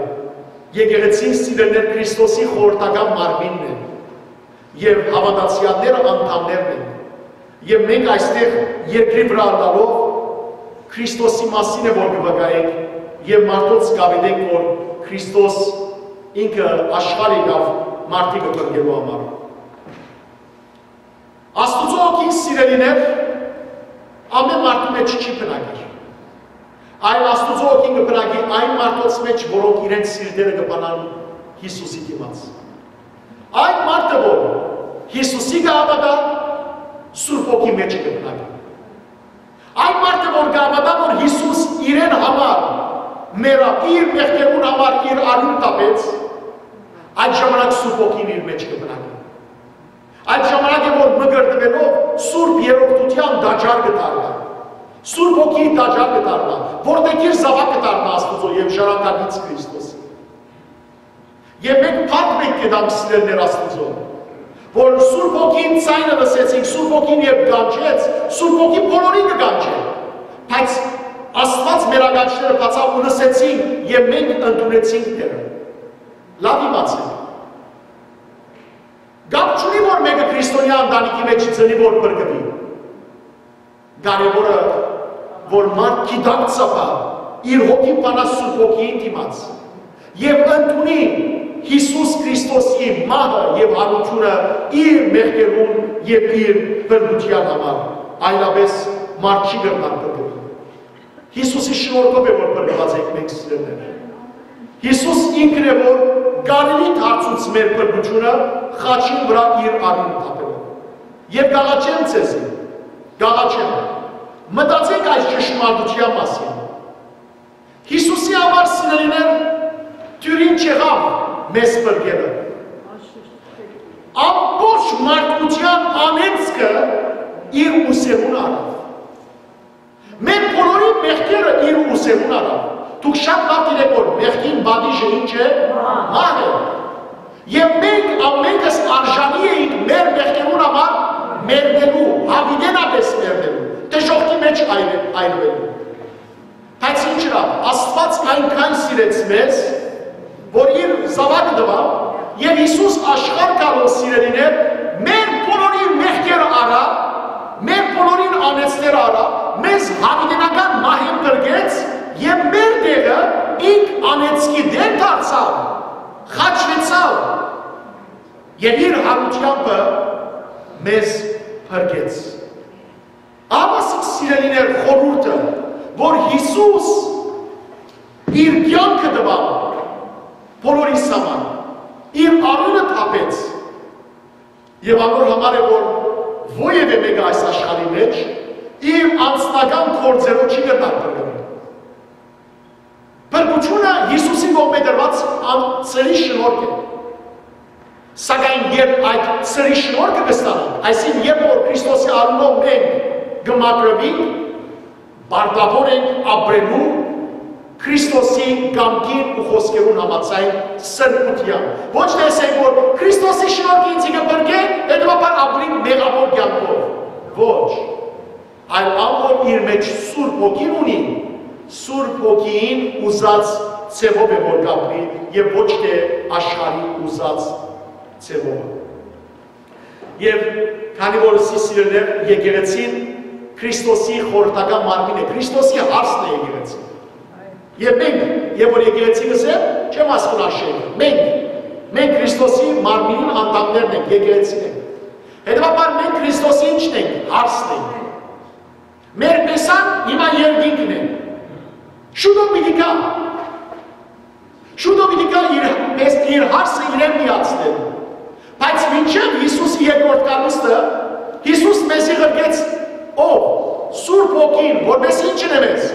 Եկեղեցին, սիրելիներ, Քրիստոսի խորհրդական մարմինն է, եւ հաւատացեալները անդամներն են։ Եւ մենք այստեղ երկրի վրայ ըլլալով Քրիստոսի մասին է որ կը վկայենք եւ մարդոց կ'աւետենք որ Քրիստոս ինքը աշխարհ եկաւ մարդիկը փրկելու համար։ Աստուծոյ հոգին, սիրելիներ, ամէն մարդու մէջ չի բնակիր, այլ Աստուծոյ հոգին կը բնակի այն մարդոց մէջ, որոնք իրենց սիրտերը կը բանան Յիսուսի դիմաց։ Այն մարդը որ Յիսուսի կը հաւատայ, Սուրբ Հոգի մէջ կը բնակի։ Այն մարդը որ կը հաւատայ որ Յիսուս իրեն համար մեռաւ, իր մեղքերուն համար իր արիւն տապեց, այդ ժամանակ Սուրբ Հոգին իր մէջ կը բնակի։ Այդ ժամանակ է որ մկրտուելով Սուրբ Երրորդութեան տաճար կը դառնայ, Սուրբ Հոգիի տաճար կը դառնայ, որտեղ իր զաւակ կը դառնայ Աստուծոյ եւ ժառանգակից Քրիստոսի։ Եւ մենք փառք մէկ կ'տանք, սիրելիներ, Աստուծոյ, որ Սուրբ Հոգին, ձայնը լսեցինք, Սուրբ Հոգին երբ կանչեց, Սուրբ Հոգին բոլորին կը կանչէ, բայց Աստուած մեր ականջները բացաւ ու լսեցինք եւ մենք ընդունեցինք դերը։ Լաւ իմացեք։ Կապ չունի որ մէկը քրիստոնեայ ընտանիքի մէջ ծնի որ փրկուի։ Կարեւորը որ մարդ գիտակցաբար իր հոգին բանայ Սուրբ Հոգիին դիմաց եւ ընդունի Յիսուս Քրիստոսի մահը եւ յարութիւնը իր մեղքերուն եւ իր փրկութեան համար, այլապէս մարդ չի կրնար փրկուիլ։ Յիսուսի շնորհքով է որ փրկուած ենք մենք, սիրելիներ։ Յիսուս ինքն է որ կարելի դարձուց մեր փրկութիւնը խաչին վրայ իր արիւնը տապելով։ Եւ կ'աղաչեմ ձեզի, կ'աղաչեմ, մտածենք այս ճշմարտութեան մասին։ Յիսուսի համար, սիրելիներ, դիւրին չեղաւ մեզ փրկելը։ Ամբողջ մարդկութեան անեծքը իր ուսերուն առաւ։ Մեր բոլորի մեղքերը իր ուսերուն առաւ։ Դուք շատ լաւ գիտէք որ մեղքին պատիժը ինչ է։ Մահ է։ Եւ մենք ամենքս արժանի էինք մեր մեղքերուն համար մեռնելու, յաւիտենապէս մեռնելու, դժոխքի մէջ այր-, այրուելու։ Բայց ինչ ըրաւ, Աստուած այնքան սիրեց մեզ, որ իր զաւակը տուաւ, եւ Յիսուս աշխարհ գալով, սիրելիներ, մեր բոլորի մեղքերը առաւ, մեր բոլորին անեծները առաւ, մեզ յաւիտենական մահին փրկեց եւ մեր տեղը ինք անեծքի դեր դարձաւ, խաչուեցաւ եւ իր յարութեամբը մեզ փրկեց։ Ահա սիրելիներ խորհուրդը, որ Յիսուս իր կեանքը տուաւ բոլորիս համար, իր արիւնը թափեց, եւ անոր համար է որ որեւէ մեկը այս աշխարհի մէջ իր անձնական գործերով չի կրնար փրկուիլ։ Փրկութիւնը Յիսուսի կողմէ տրուած ան-, սրի շնորհք է։ Սակայն երբ այդ սրի շնորհքը կստանանք, այսինքն երբ որ Քրիստոսի արիւնով մենք կը մաքրուինք, պարտավոր ենք ապրելու Քրիստոսի կամքին ու խօսքերուն համաձայն սրբութեան։ Ոչ թե ասենք որ Քրիստոսի շնորհքը ինձի կը փրկէ, հետեւաբար ապրենք մեղաւոր կեանքով։ Ոչ։ Այլ ան որ իր մէջ Սուրբ Հոգին ունի, Սուրբ Հոգին ուզած ձեւով է որ կապրի եւ ոչ թե աշխարհի ուզած ձեւով։ Եւ քանի որ սի սիրելիներ եկեղեցին Քրիստոսի խորհրդական մարմին է, Քրիստոսի հարսն է եկեղեցին։ Եւ մենք, եւ որ եկեղեցի կ'ըսեմ, չեմ ասկուն աշեն, մենք, մենք Քրիստոսի մարմինին անդամներն ենք, եկեղեցին ենք։ Հետեւաբար մենք Քրիստոսի ինչն ենք, հարսն ենք։ Մեր պեսան հիմա երկինքն է։ Շուտով պիտի գայ։ Շուտով պիտի գայ իր, մեզ, իր հարսը իրեն միացնել։ Բայց մինչեւ Յիսուսի երկրորդ գալուստը, Յիսուս մեզի ղրկեց ով, Սուրբ Հոգին, որպես ինչն է մեզ,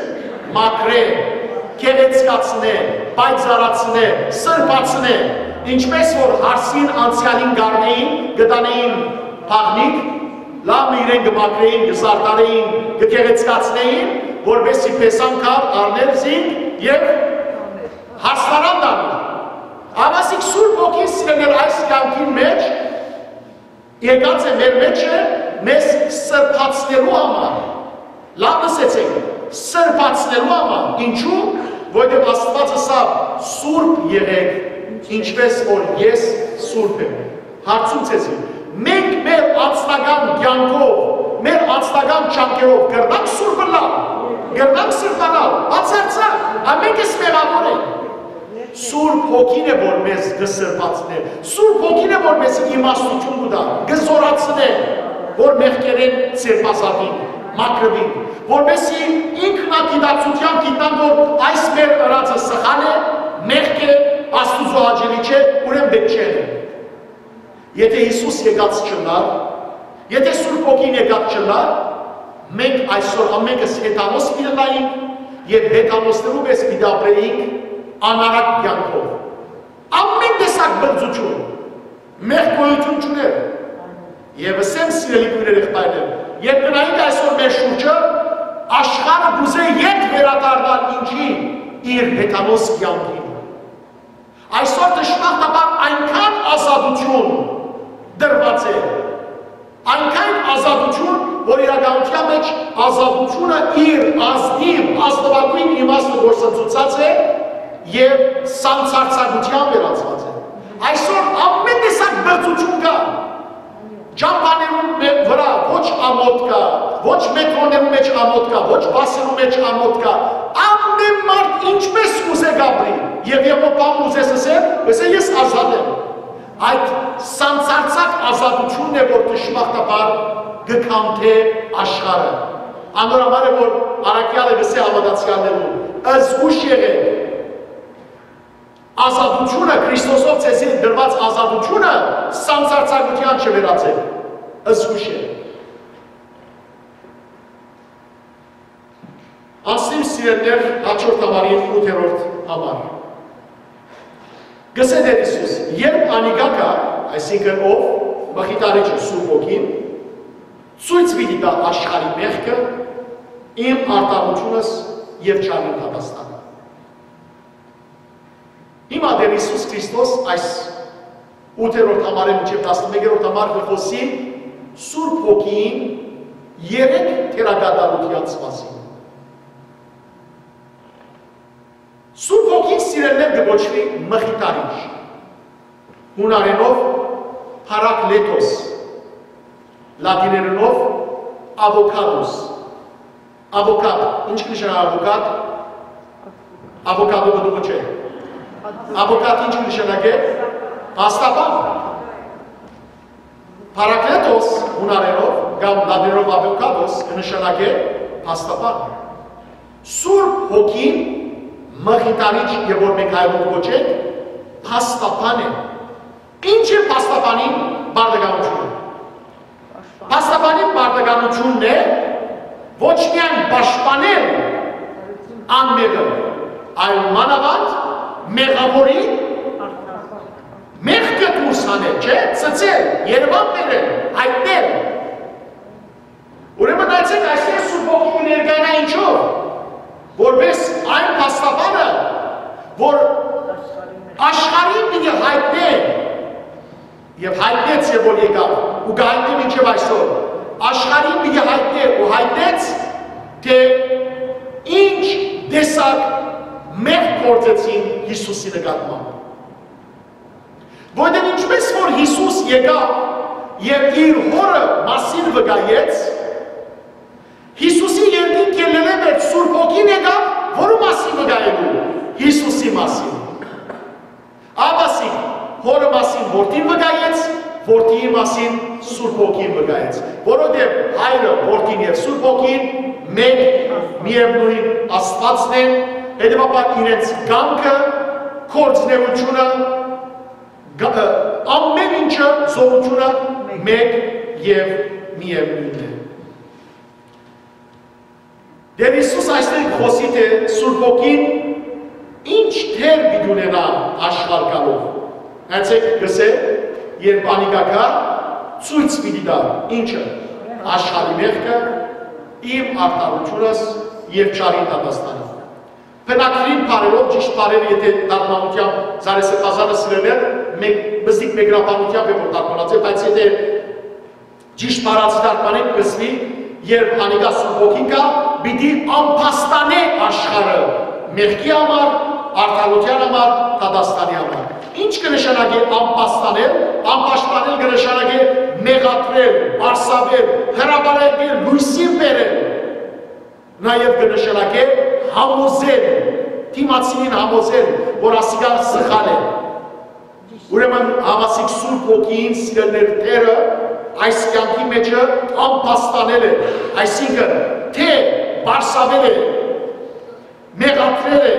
մաքրե, գեղեցկացնե, պայծառացնե, սրբացնե, ինչպես որ հարսին անցեալին կ'առնէին, կ'տանէին բաղնիք, լաւ մը իրեն կը մաքրէին, կը զարդարէին, կը գեղեցկացնէին, որպեսզի փեսան գար, առնել զինք եւ հասնարան տանի։ Ահա Սուրբ Հոգին, սիրելիներ, այս կեանքին մէջ եկած է մեր մէջը մեզ սրբացնելու համար։ Լաւ լսեցէք, սրբացնելու համար։ Ինչու՞, որովհետեւ Աստուած ըսաւ. «Սուրբ եղէք, ինչպէս որ ես սուրբ եմ»։ Հարցում ձեզի, մենք մեր անձնական կեանքով, մեր անձնական ջանքերով կրնանք սուրբ ըլլալ, կրնանք սրբանալ, բացարձակ, ամենքս մեղաւոր ենք։ Սուրբ Հոգին է, որ մեզ կը սրբացնէ, Սուրբ Հոգին է, որ մեզ իմաստութիւն կու տայ, կը զօրացնէ, որ մեղքերէն ձերբազատինք, մաքրուինք, որպեսզի ինքնագիտակցութեամբ գիտնանք, որ այս մեր ըրածը սխալ է, մեղք է, Աստուծոյ հաճելի չէ, ուրեմն պէտք չէ։ Եթէ Յիսուս եկած չըլլար, եթէ Սուրբ Հոգին եկած չըլլար, մենք այսօր ամենքս հեթանոս պիտի ըլլայինք եւ հեթանոսներու պէս պիտի ապրէինք անառակ կեանքով։ Ամեն տեսակ բղծութիւն, մեղք գոյութիւն չունէր։ Եւ ըսեմ, սիրելի քոյրեր, եղբայրներ, երբ նայենք այսօր մեր շուրջը, աշխարհը կ'ուզէ ետ վերադառնալ ինչի՞, իր հեթանոս կեանքին։ Այսօր դժբախտաբար այնքան ազատութիւն տրուած է, այնքան ազատութիւն, որ իրականութեան մէջ ազատութիւնը իր ազնիւ, ազնուագոյն իմաստը գործընծուցած է եւ սանձարձակութեան վերածուած է։ Այսօր ամեն տեսակ բղծութիւն կայ։ Ճամբաներուն մէ-, վրայ ոչ ամօթ կայ, ոչ մետրոներուն մէջ ամօթ կայ, ոչ բասերուն մէջ ամօթ կայ։ Ամեն մարդ ինչպէս կ'ուզէ կ'ապրի, եւ, եւ բան ուզես ըսել, ըսել, ես ազատ եմ։ Այդ սանձարձակ ազատութիւնն է, որ դժբախտաբար կը քանդէ աշխարհը։ Անոր համար է, որ առաքեալը կ'ըսէ հաւատացեալներուն. «Զգոյշ եղէք, ազատութիւնը, Քրիստոսով ձեզի տրուած ազատութիւնը սանձարձակութեան չվերածէք»։ Զգոյշ եղէք։ Անցնիմ, սիրելիներ, յաջորդ համարին, ութերորդ համար։ Կ'ըսէ Տէր Յիսուս. «Երբ անիկա գայ», այսինքն ով, Մխիթարիչը, Սուրբ Հոգին, «ցոյց պիտի տայ աշխարհի մեղքը, իմ արդարութիւնս եւ չարին դատաստանը»։ Հիմա Տէր Յիսուս Քրիստոս այս ութերորդ համարէն մինչեւ տասնմեկերորդ համար կը խօսի Սուրբ Հոգիին երեք դերակատարութեանց մասին։ Սուրբ Հոգին, սիրելիներ, կը կոչուի Մխիթարիչ, յունարէնով՝ Փարակլետոս, լատիներէնով՝ Αβոկատոս։ Αβոկատ, ի՞նչ կը նշանակէ αβոկատ։ Αβոկատո պտուղը չէ։ Αβոկատ ի՞նչ կը նշանակէ։ Փաստաբան։ Փարակլետոս, յունարէնով, կամ լատիներով Αβոկատոս, կը նշանակէ փաստաբան։ Սուրբ Հոգին, Մխիթարիչ, եւ որ մենք հայերով կոչենք, փաստաբան է։ Ի՞նչ է փաստաբանին պարտականութիւնը։ Փաստաբանին պարտականութիւնն է ոչ միայն պաշտպանել անմեղը, այլ մանաւանդ մեղաւորին մեղքը դուրս հանել, չէ՞, ցցել, Երեւան բերել, յայտնել։ Ուրեմն նայեցէք, այսինքն Սուրբ Հոգին կը ներկայանայ ինչով, որպես այն փաստաբանը, որ աշխարհին պիտի յայտնէ, եւ յայտնեց, եւ որ եկաւ, ու կը յայտնէ մինչեւ այսօր, աշխարհին պիտի յայտնէ ու յայտնեց, թէ ինչ տեսակ մեղք գործեցին Յիսուսի նկատմամբ։ Որտեղ ինչպես որ Յիսուս եկաւ եւ իր հորը մասին վկայեց, Յիսուսի երկինք ելլելէ մէջ Սուրբ Հոգին եկաւ, որու մասին վկայելու։ Յիսուսի մասին։ Աբասիկ հորը մասին որդին վկայեց, որդիի մասին Սուրբ Հոգին վկայեց, որովհետեւ հայրը, որդին եւ Սուրբ Հոգին մէկ, միեւնոյն Աստուածն են, հետեւաբար իրենց կամքը, գործնեությունը, գ-, ը, ամեն ինչը, զորությունը մէկ եւ միեւնոյն է։ Տէր Յիսուս այստեղ կը խօսի, թէ Սուրբ Հոգին ինչ դեր պիտի ունենայ աշխարհ գալով։ Նայեցէք, կ'ըսէ, երբ անիկա գայ, ցոյց պիտի տայ, ինչը, աշխարհի մեղքը, իմ արդարութիւնս եւ չարին դատաստանի։ Բնագիրին բառերով, ճիշտ բառերը, եթե թարգմանութեամբ Զարեսեփազանը սիրելեր, մեկ, բզիկ մեկնաբանութեամբ է որ թարգմանած է, բայց եթե ճիշտ բառացի թարգմանենք, կսուի, երբ անիկա Սուրբ Հոգին կայ, պիտի ամբաստանէ աշխարհը մեղքի համար, արդարութեան համար, դատաստանի համար։ Ինչ կը նշանակէ ամբաստանել, ամբաստանել կը նշանակէ մեղադրել, պարսավել, հրապարակել, լոյսին բերել, նաեւ կը նշանակէ համոզել, դիմացինին համոզել, որ ասիկա սխալ է։ Ուրեմն, համասիկ Սուրբ Հոգին, սիրելիներ, Տէրը այս կեանքի մէջը ամբաստանել է, այսինքն, թէ պարսավել է, մեղադրել է,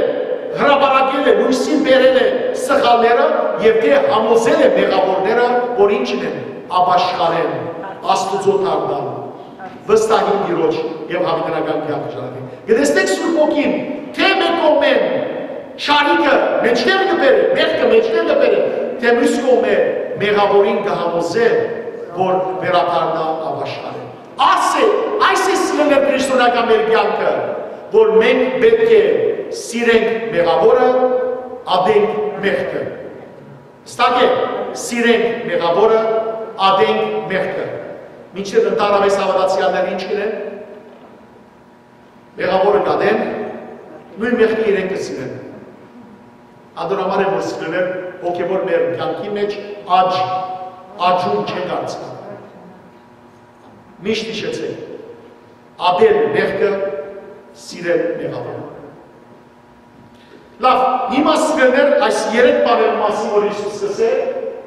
հրապարակել է, լոյսին բերել է սխալները եւ թէ համոզել է մեղաւորները, որ ինչն են, ապաշխարեն, Աստուծոյ դառնան, վստահին Տիրոջ եւ յաւիտենական կեանքը ժառանգեն։ Կը տեսնենք Սուրբ Հոգին, թէ մէկ կողմէն չարիքը մէջտեղ կը բերէ, մեղքը մէջտեղ կը բերէ, թէ միւս կողմէ մեղաւորին կը համոզէ, որ վերադառնայ, ապաշխարէ։ Այս է, այս է սիրելիներ քրիստոնեական մեր կեանքը, որ մենք պէտք է սիրենք մեղաւորը, ատենք մեղքը։ Ստակ է, սիրենք մեղաւորը, ատենք մեղքը։ Մինչդեռ ընդհանրապես հաւատացեալները ինչ կ'ընեն, մեղաւորը կ'ատեն, նոյն մեղքը իրենք կը սիրեն։ Ատոր համար է որ սիրելիներ, հոգեւոր մեր կեանքի մէջ աճ, աճում չենք արցնած։ Միշտ յիշեցէք, ատել մեղքը, սիրել մեղաւորը։ Լաւ, հիմա սիրելիներ, այս երեք բաներու մասին որ Յիսուս կ'ըսէ,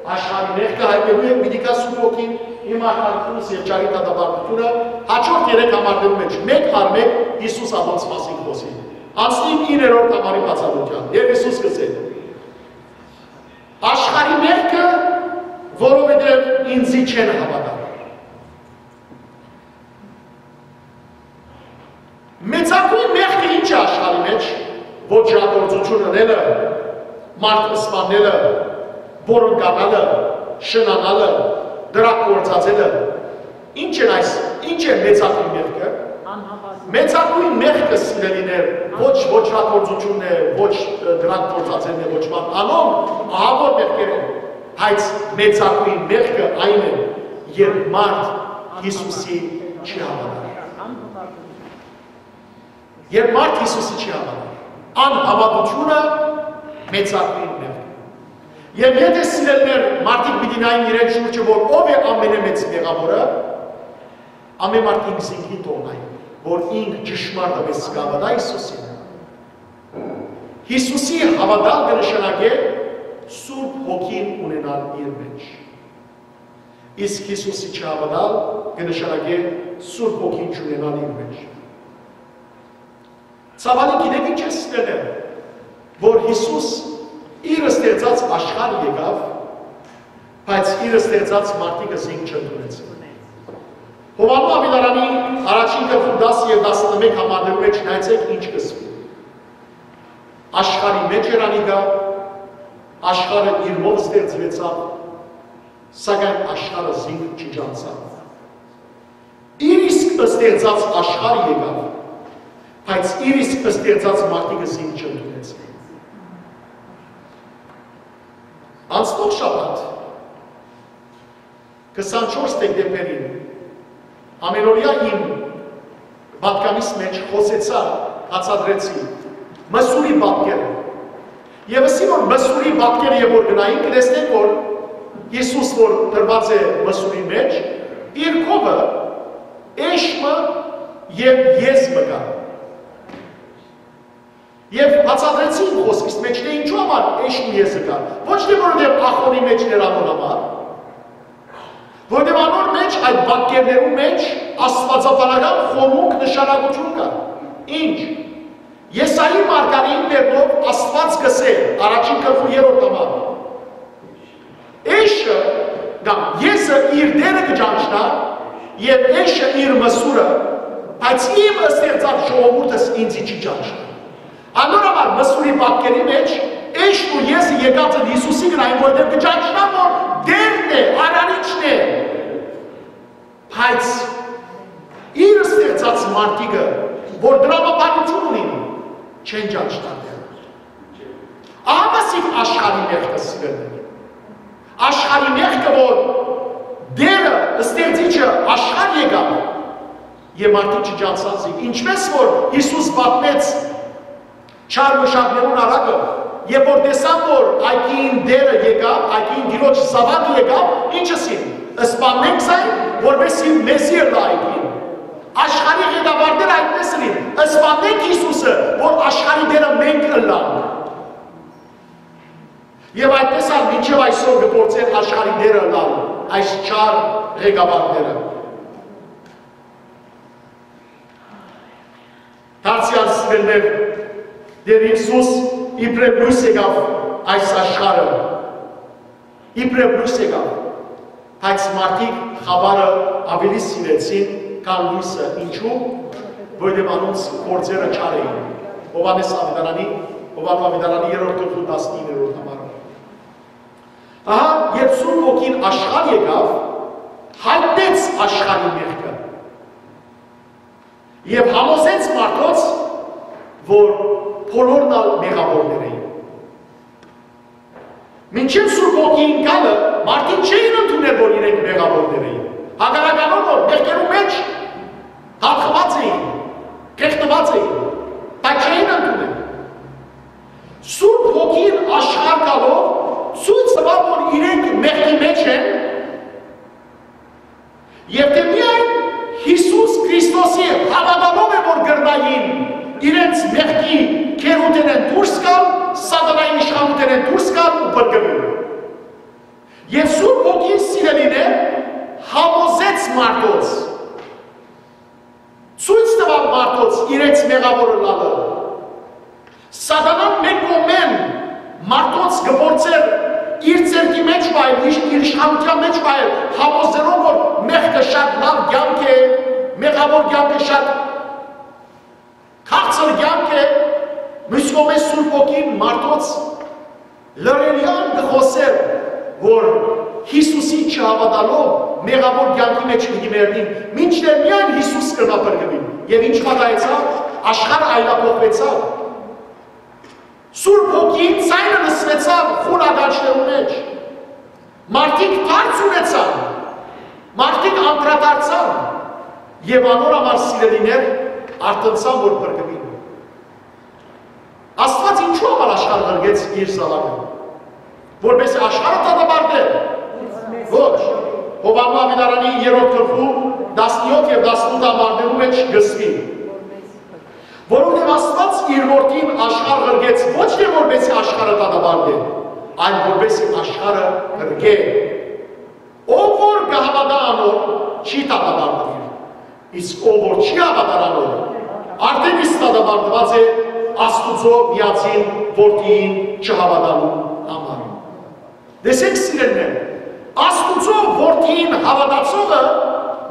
աշխարհի մեղքը յայտնելու է, պիտի գայ Սուրբ Հոգին, հիմա յարքունս եւ չարի դատապարտութիւնը, հաջորդ երեք համարներու մէջ մէկ առ մէկ Յիսուս ատոնց մասին կ'խօսի։ Անցնինք իններորդ համարի բացատրութեան, եւ Յիսուս կ'ըսէ. «Աշխարհի մեղքը, որովհետեւ ինծի չեն հաւատար»։ Մեծագոյն մեղքը ի՞նչ է աշխարհի մէջ, ոճրագործութիւն ընելը, մարդ սպաննելը, պոռնկանալը, շնանալը, դրակ գործածելը։ Ի՞նչ են այս, ի՞նչ է մեծագոյն մեղքը։ Մեծագոյն մեղքը, սիրելիներ, ոչ ոճրագործութիւնն է, ոչ, ը, դրակ գործածելն է, ոչ բան, անոնք ահաւոր մեղքեր են, բայց մեծագոյն մեղքը այն է, երբ մարդ Յիսուսի չի հաւատար։ Երբ մարդ Յիսուսի չի հաւատար, անհաւատութիւնը մեծագոյն մեղք է։ Եւ եթե, սիրելիներ, մարդիկ պիտի նային իրեն շուրջը, որ ով է ամենամեծ մեղաւորը, ամեն մարդ ինքզինքնին թողնայ, որ ինք ճշմարտապէս կը հաւատայ Յիսուսին։ Յիսուսի հաւատալ կը նշանակէ Սուրբ Հոգին ունենալ իր մէջ։ Իսկ Յիսուսի չհաւատալ կը նշանակէ Սուրբ Հոգին չունենալ իր մէջ։ Ցաւալի, գիտեք ինչ է սիրելիներ, որ Յիսուս իր ստեղծած աշխարհ եկաւ, բայց իր ստեղծած մարդիկը զինք չընդունեցին։ Յովհաննէս աւետարանի առաջին գլխու տասը եւ տասնմէկ համարներու մէջ նայեցէք ինչ կ'ըսուի։ Աշխարհի մէջ էր անիկա, աշխարհը իրմով ստեղծուեցաւ, սակայն աշխարհը զինք չճանչցաւ։ Իր իսկ ստեղծած աշխարհը եկաւ, բայց իր իսկ ստեղծած մարդիկը զինք չընդունեցին։ Անցնող շաբաթ, քսանչորս դեկտեմբերին, ամենօրեայ իմ պատկանիս մէջ խօսեցայ, բացատրեցի Մսուրի պատկերը։ Եվ ըսի որ Մսուրի պատկերը երբ որ գնային, կտեսնենք որ Յիսուս որ դրված է Մսուրի մէջ, իր քովը էշ մը եւ եզ մը կայ։ Եվ բացատրեցի իմ խօսքիս մէջ, թէ ինչու համար էշ մը եզը կայ։ Ոչ թէ որովհետեւ ախոնի մէջ էր անոր համար, որովհետեւ անոր մէջ, այդ պատկերներու մէջ, աստուածաբանական խորհուրդ նշանակութիւն կայ։ Ինչ։ Եսայի մարգարէին բերնով Աստուած կ'ըսէ, առաջին գլխու երրորդ համար. «Էշը կամ եզը իր դերը կը ճանչնայ եւ էշը իր մսուրը, բայց իմ ստեղծած ժողովուրդս ինծի չի ճանչնայ»։ Անոր համար Մսուրի պատկերի մէջ էշն ու եզը եկած են Յիսուսի վրայ, որովհետեւ կը ճանչնան որ Տէրն է, Արարիչն է։ Բայց իր ստեղծած մարդիկը որ դրամաբանութիւն ունին, չեն ճանչնար Տերը։ Ահա սիկ աշխարհի մեղքը, սիրելիներ։ Աշխարհի մեղքը, որ Տերը, ստեղծիչը, աշխարհ եկաւ, եւ մարդիկ չճանչցան զինք։ Ինչպէս որ Յիսուս պատմեց չար մշակներուն առակը, երբ որ տեսան, որ այգին Տերը եկաւ, այգին Տիրոջ զաւակը եկաւ, ինչ ըսին։ Սպաննենք զայն, որպեսզի մեզի ըլլայ այգին։ Աշխարհի ղեկավարները այդպես ըլին, սպաննենք Յիսուսը, որ աշխարհի Տերը մենք ըլլանք։ Եւ այդպես ալ մինչեւ այսօր կը փորձեն աշխարհի Տերը ըլլալ այս չար ղեկավարները։ Դարձեալ, սիրելիներ, Տեր Յիսուս իբրեւ լոյս եկաւ այս աշխարհը, իբրեւ լոյս եկաւ, բայց մարդիկ խաւարը աւելի սիրեցին, քան լոյսը։ Ինչու՞։ Որովհետեւ անոնց գործերը չար էին։ Յովհաննէս Աւետարանի, Յովհաննէս Աւետարանի երրորդ գլխու տասնիններորդ համարը։ Ահա, երբ Սուրբ Հոգին աշխարհ եկաւ, յայտնեց աշխարհի մեղքը եւ համոզեց մարդոց, որ բոլորն ալ մեղաւորներ էին։ Մինչեւ Սուրբ Հոգին գալը մարդիկ չէին ընդուներ, որ իրենք մեղաւորներ էին։ Հակառակ անոր, որ մեղքերու մէջ թափուած էին, կեղտուած էին, դա չէին ընդուներ։ Սուրբ Հոգին աշխարհ գալով ցոյց տուաւ, որ իրենք մեղքի մէջ են, եւ թէ միայն Յիսուս Քրիստոսի հաւատալով է, որ կրնային իրենց մեղքի գերութենէն դուրս գալ, սատանայի իշխանութենէն դուրս գալ ու փրկուիլ։ Եւ Սուրբ Հոգին, սիրելիներ, համոզեց մարդոց, ցոյց տուաւ մարդոց իրենց մեղաւոր ըլլալը։ Սատանան մէկ կողմէն մարդոց կը փորձէր իր ձեռքի մէջ պահել, իր, իր իշխանութեան մէջ պահել, համոզելով, որ մեղքը շատ լաւ կեանք է, մեղաւոր կեանքը շատ քաղցր կեանք է, միւս կողմէ Սուրբ Հոգին մարդոց լռելեան կը խօսէր, որ Յիսուսին չհաւատալով մեղաւոր կեանքի մէջ պիտի մեռնին, մինչդեռ միայն Յիսուս կրնայ փրկուիլ։ Եւ ի՞նչ պատահեցաւ, աշխարհը այլափոխուեցաւ։ Սուրբ Հոգին ձայնը լսուեցաւ խուլ ականջներու մէջ։ Մարդիկ դարձ ունեցան, մարդիկ անդրադարձան եւ անոր համար, սիրելիներ, արթնցան, որ փրկուին։ Աստուած ինչու համար աշխարհ ղրկեց իր զաւակը, որպեսզի աշխարհը դատապարտէ։ Ոչ։ Յովհաննէս Աւետարանի երրորդ գլխու տասնեօթ եւ տասնութ համարներու մէջ կ'ըսուի, որովհետեւ Աստուած իր որդին աշխարհ ղրկեց ոչ թէ որպեսզի աշխարհը դատապարտէ, այլ որպեսզի աշխարհը ղրկէ։ Ով որ կը հաւատայ անոր, չի դատապարտուիր, իսկ ով որ չի հաւատար անոր, արդէն իսկ դատապարտուած է Աստուծոյ միածին որդիին չհաւատալու համար։ Տեսէք, սիրելիներ, Աստուծոյ որդիին հաւատացողը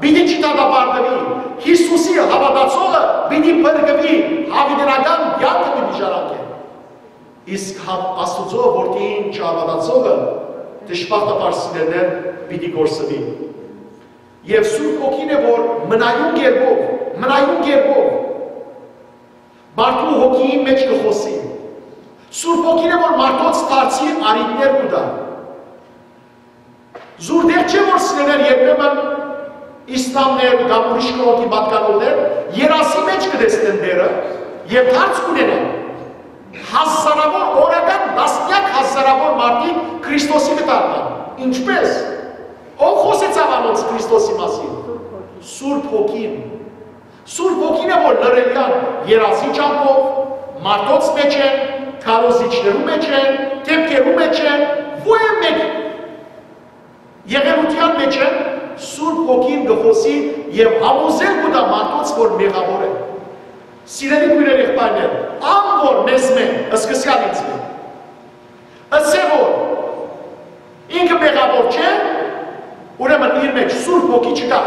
պիտի չդատապարտուի, Յիսուսի հաւատացողը պիտի փրկուի, յաւիտենական կեանքը պիտի ժառանգէ։ Իսկ հա-, Աստուծոյ որդիին չհաւատացողը, դժբախտաբար, սիրելիներ, պիտի կորսուի։ Եւ Սուրբ Հոգին է, որ մնայուն կերպով, մնայուն կերպով մարդու հոգիին մէջ կը խօսի։ Սուրբ Հոգին է, որ մարդոց դարձի առիթներ կու տայ։ Զուր դեր չէ, որ, սիրելիներ, երբեմն իսլամներ կամ ուրիշ կողմի պատկանողներ երազի մէջ կը տեսնեն Տերը եւ դարձ կ'ունենան։ Հազարաւոր, օրական տասնեակ հազարաւոր մարդիկ Քրիստոսի կը դառնան։ Ինչպէս։ Ո՞վ խօսեցաւ անոնց Քրիստոսի մասին։ Սուրբ Հոգին։ Սուրբ Հոգին է, որ լռելեան երազի ճամբով, մարդոց մէջ են, քարոզիչներու մէջ են, դէպքերու մէջ են, ո՞յ է մէկ եղելութեան մէջ են, Սուրբ Հոգին կը խօսի եւ համոզել կու տայ մարդոց, որ մեղաւոր է։ Սիրելի քոյրեր, եղբայրներ, ան որ մեզմէ, սկսեալ ինձմէ, ըսէ որ ինքը մեղաւոր չէ, ուրեմն իր մէջ Սուրբ Հոգի չկայ։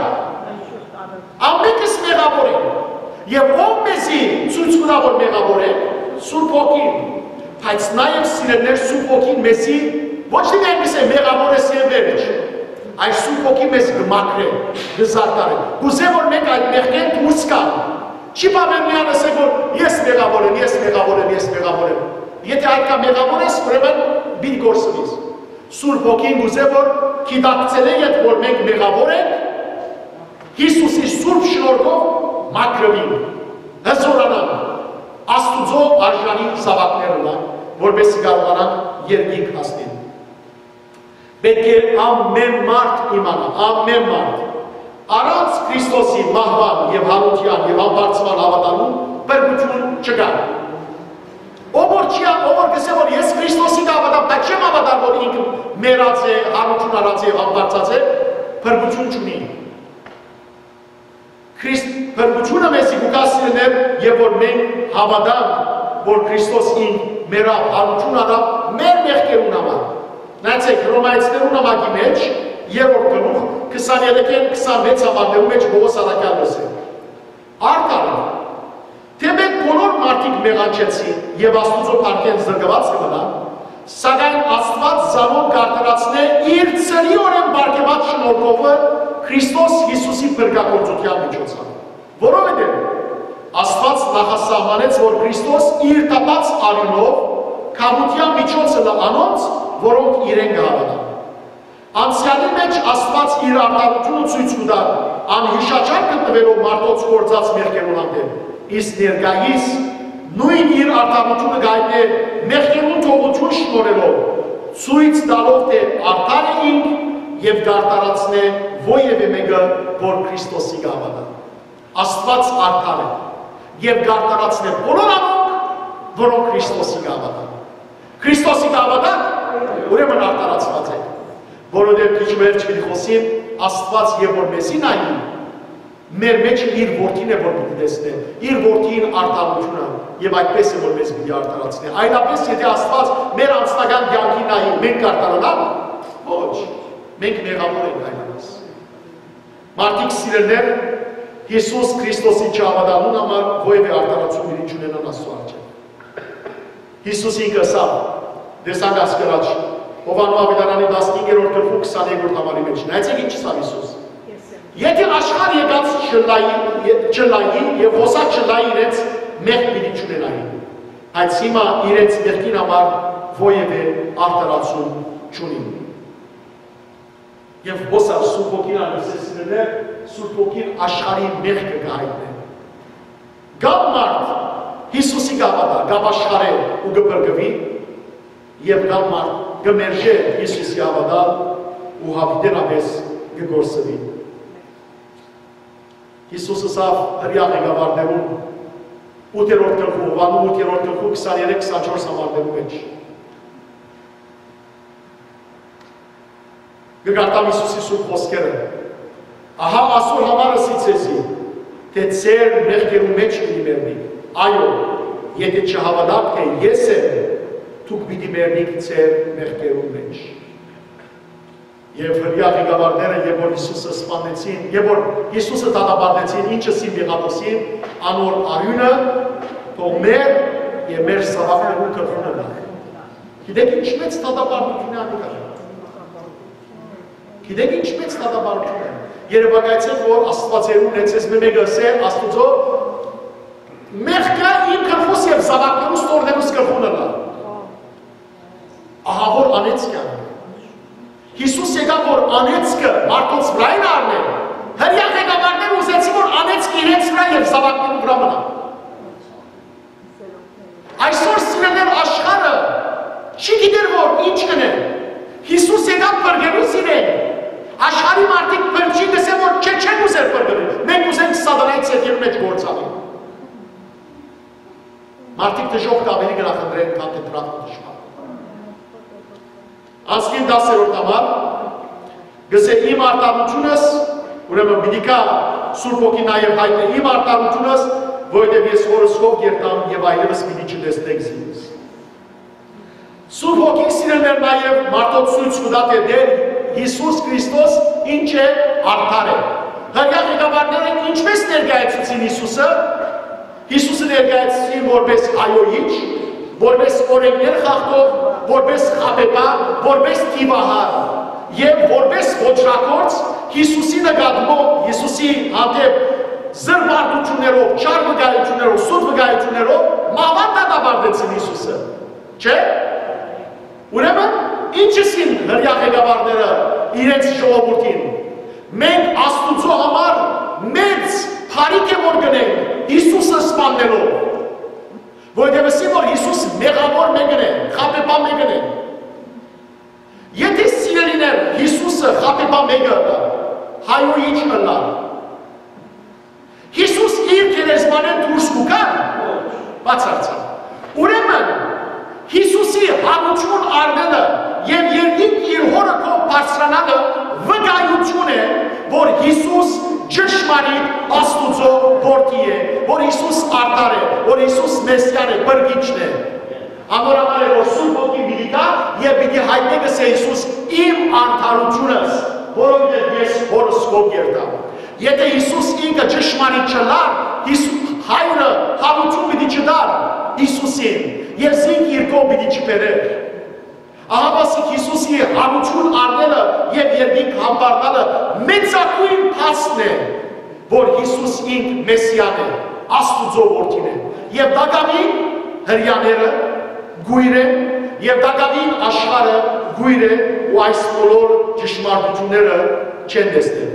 Ամենքս մեղաւոր ենք, եւ ով մեզի ցոյց կու տայ, որ մեղաւոր ենք, Սուրբ Հոգին։ Բայց նաեւ, սիրելիներ, Սուրբ Հոգին մեզի ոչ թե այնպես է մեղաւոր ես եւ վերջ, այլ Սուրբ Հոգին մեզ կը մաքրէ, կը զարդարէ։ Կ'ուզէ, որ մենք այդ մեղքէն դուրս գանք, Չի բաւեր միան ըսել որ ես մեղաւոր եմ, ես մեղաւոր եմ, ես մեղաւոր եմ։ Եթէ այդքան մեղաւոր ես, ուրեմն պիտի կորսնիս։ Սուրբ Հոգին կ'ուզէ որ գիտակցելէ ետ որ մենք մեղաւոր ենք, Յիսուսի սուրբ շնորհքով մաքրուինք, հզորանանք, Աստուծոյ արժանի զաւակներ ըլլանք, որպեսզի կարողանանք երկինք հասնենք։ Պէտք է ամէն մարդ իմանայ, ամէն մարդ, առանց Քրիստոսի մահուան եւ յարութեան եւ ամբարձման հաւատալու փրկութիւն չկայ։ Ով որ չի, ով որ կ'ըսէ որ ես Քրիստոսի կը հաւատամ, բայց չեմ հաւատար որ ինք մեռած է, յարութիւն առած է եւ ամբարձած է, փրկութիւն չունի։ Քրիստ-, փրկութիւնը մեզի կու գայ, սիրելիներ, եւ որ մենք հաւատանք որ Քրիստոս ինք մեռաւ, յարութիւն առաւ մեր մեղքերուն համար։ Նայեցէք, Հռոմայեցիներուն նամակի մէջ, երրորդ գլուխ, քսաներեքէն քսանվեց համարներու մէջ Պողոս առաքեալը ըսէ. Արդարեւ, թէ մենք բոլոր մարդիկ մեղանչեցին եւ Աստուծոյ փառքէն զրկուած կը մնանք, սակայն Աստուած զանոնք կ'արդարացնէ իր ցրիօրէն պարգեւած շնորհքովը Քրիստոս Յիսուսի փրկագործութեան միջոցով։ Որովհետեւ Աստուած նախասահմանեց որ Քրիստոս իր տապած արիւնով գաւութեան միջոցը լա անոնց, որոնք իրեն կը հաւատան։ Անցեալի մէջ Աստուած իր արդարութիւնը ցոյց կու տար, անյիշաչար գտնուելով մարդոց գործած մեղքերուն հանդէպ, իսկ ներկայիս նոյն իր արդարութիւնը կ'այտնէ մեղքերուն թողութիւն շնորհելով, ցոյց տալով թէ արդար է ինք եւ կ'արդարացնէ որեւէ մէկը որ Քրիստոսի կը հաւատայ։ Աստուած արդար է եւ կ'արդարացնէ բոլոր անոնք, որոնք Քրիստոսի կը հաւատան։ Քրիստոսի կը հաւատաք, ուրեմն արդարացուած եք, որովհետեւ քիչ վերջ պիտի խօսիմ, Աստուած եւ որ մեզի նայի, մեր մէջը իր որդին է որ պիտի տեսնէ, իր որդին արդարութիւնը, եւ այդպես է որ մեզ պիտի արդարացնէ։ Այլապես եթէ Աստուած մեր անձնական կեանքին նայի, մենք կ'արդարանանք, ոչ, մենք մեղաւոր ենք այլապես։ Մարդիկ, սիրելիներ, Յիսուս Քրիստոսին չհաւատալուն համար որեւէ արդարացում իրեն չունենան Աստուծոյ առջեւ։ Յիսուս ինքը ըսաւ, տեսանք ասկրաչ, Յովհաննէս աւետարանի տասնհինգերորդ գլխու քսաներկրորդ համարի մէջ։ Նայեցէք ինչ ըսաւ Յիսուս. «Եթէ աշխարհ եկած չլայի, ե-, չլայի եւ յուսա չլայի, իրենց մեղք պիտի չունենային, բայց հիմա իրենց մեղքին համար որեւէ արդարացում չունին»։ Եւ յուսա Սուրբ Հոգին ալ ըսեցնելէ, Սուրբ Հոգին աշխարհի մեղքը կը հայտնէ։ Կան մարդ Յիսուսի կը հաւատայ, կ'ապաշխարէ ու կը փրկուի, եւ կան մարդ կը մերժէ Յիսուսի հաւատալ ու յաւիտենապէս կը կորսուի։ Յիսուս ըսաւ Հրեայ ղեկավարներուն, ութերորդ գլխու, Յովհաննէս ութերորդ գլխու քսաներեք քսանչորս համարներու մէջ։ Կը կարդամ Յիսուսի սուրբ խօսքերը. «Ահա ասոր համար ըսի ձեզի, թէ ձեր մեղքերու մէջ պիտի մեռնիք։ Այո, եթէ չհաւատաք թէ ես եմ, դուք պիտի մեռնիք ձեր մեղքերու մէջ»։ Եւ Հրեայ ղեկավարները, երբ որ Յիսուսը սպանեցին, երբ որ Յիսուսը դատապարտեցին, ինչ ըսին Պիղատոսին, անոր արիւնը թող մեր եւ մեր զաւակներուն գլխուն ըլլայ։ Գիտեք ինչ մեծ դատապարտութիւն է ան կը կար։ Գիտեք ինչ մեծ դատապարտութիւն է։ Երեւակայեցէ որ Աստուածերուն է, ձեզ մէ մէկը ըսէ Աստուծոյ մեղքը իմ գլխուս եւ զաւակներուս, թոռներուս գլխուն ըլլայ։ Ահա որ անեծք է։ Յիսուս եկաւ որ անեծքը մարդոց վրայ առնէ։ Հրեայ ղեկավարները ուզեցին որ անեծքը իրենց վրայ եւ զաւակներուն վրայ մնայ։ Այսօր, սիրելիներ, աշխարհը չի գիտեր որ ինչ կ'ընէ։ Յիսուս եկաւ փրկելու զիրեն։ Աշխարհի մարդիկ փրկչին կ'ըսեն որ չէ, չենք ուզեր փրկել։ Մենք ուզենք սատանայի ձեռքերու մէջ գործանենք։ Մարդիկ դժոխքը աւելի կը նախընտրեն, քան թէ դրախտը դժմանը։ Անցնին տասերորդ համար, կ'ըսէ. «Իմ արդարութիւնս», ուրեմն պիտի գայ Սուրբ Հոգին նաեւ հայտնէ, «իմ արդարութիւնս, որովհետեւ ես Հօրս քով կ'երթամ եւ այլեւս պիտի չտեսնէք զինս»։ Սուրբ Հոգին, սիրելիներ, նաեւ մարդոց ցոյց կու տայ թէ Տէր Յիսուս Քրիստոս ինչ է, արդար է։ Հրեայ ղեկավարները ինչպէս ներկայացուցին Յիսուսը, Յիսուսը ներկայացուցին որպես հայոյիչ, որպես օրէնքներ խախտող, որպես խաբեբայ, որպես դիւահար եւ որպես ոճրագործ, Յիսուսի նկատմամբ, Յիսուսի հանդէպ զրպարտութիւններով, չար վկայութիւններով, սուտ վկայութիւններով մահուան դատապարտեցին Յիսուսը։ Չէ՞։ Ուրեմն, ինչպիսի՞ն հրեայ ղեկավարները իրենց ժողովուրդին։ Մենք Աստուծոյ համար մեծ բարիք է որ կ'ընենք Յիսուսը սպաննելով, որովհետեւ ըսի որ Յիսուս մեղաւոր մէկն է, խաբեբայ մէկն է։ Եթէ, սիրելիներ, Յիսուսը խաբեբայ մէկը ըլլար, հայոյ ի՞նչ ըլլար։ Յիսուս իր գերեզմանէն դուրս կու գա՞ր։ Բացարձակ։ Ուրեմն, Յիսուսի յարութիւն առնելը եւ երկինք իր հօրը քով բարձրանալը վկայութիւն է, որ Յիսուս ճշմարիտ Աստուծոյ որդի է, որ Յիսուս արդար է, որ Յիսուս Մեսիան է, փրկիչն է։ Անոր համար է որ Սուրբ Հոգին պիտի գայ եւ պիտի յայտնէ, կ'ըսէ Յիսուս, իմ արդարութիւնս, որովհետեւ ես հօրս քով կ'երթամ։ Եթէ Յիսուս ինքը ճշմարիտ չըլլար, Յիսու-, հայրը յարութիւն պիտի չտար Յիսուսին եւ զինք իր քով պիտի չբերէր։ Ահա ասիկ Յիսուսի յարութիւն առնելը եւ երկինք համբարնալը մեծագոյն փաստն է, որ Յիսուս ինք Մեսիան է, Աստուծոյ որդին է։ Եւ տակաւին հրեաները կոյր են, եւ տակաւին աշխարհը կոյր է ու այս բոլոր ճշմարտութիւնները չեն տեսնել։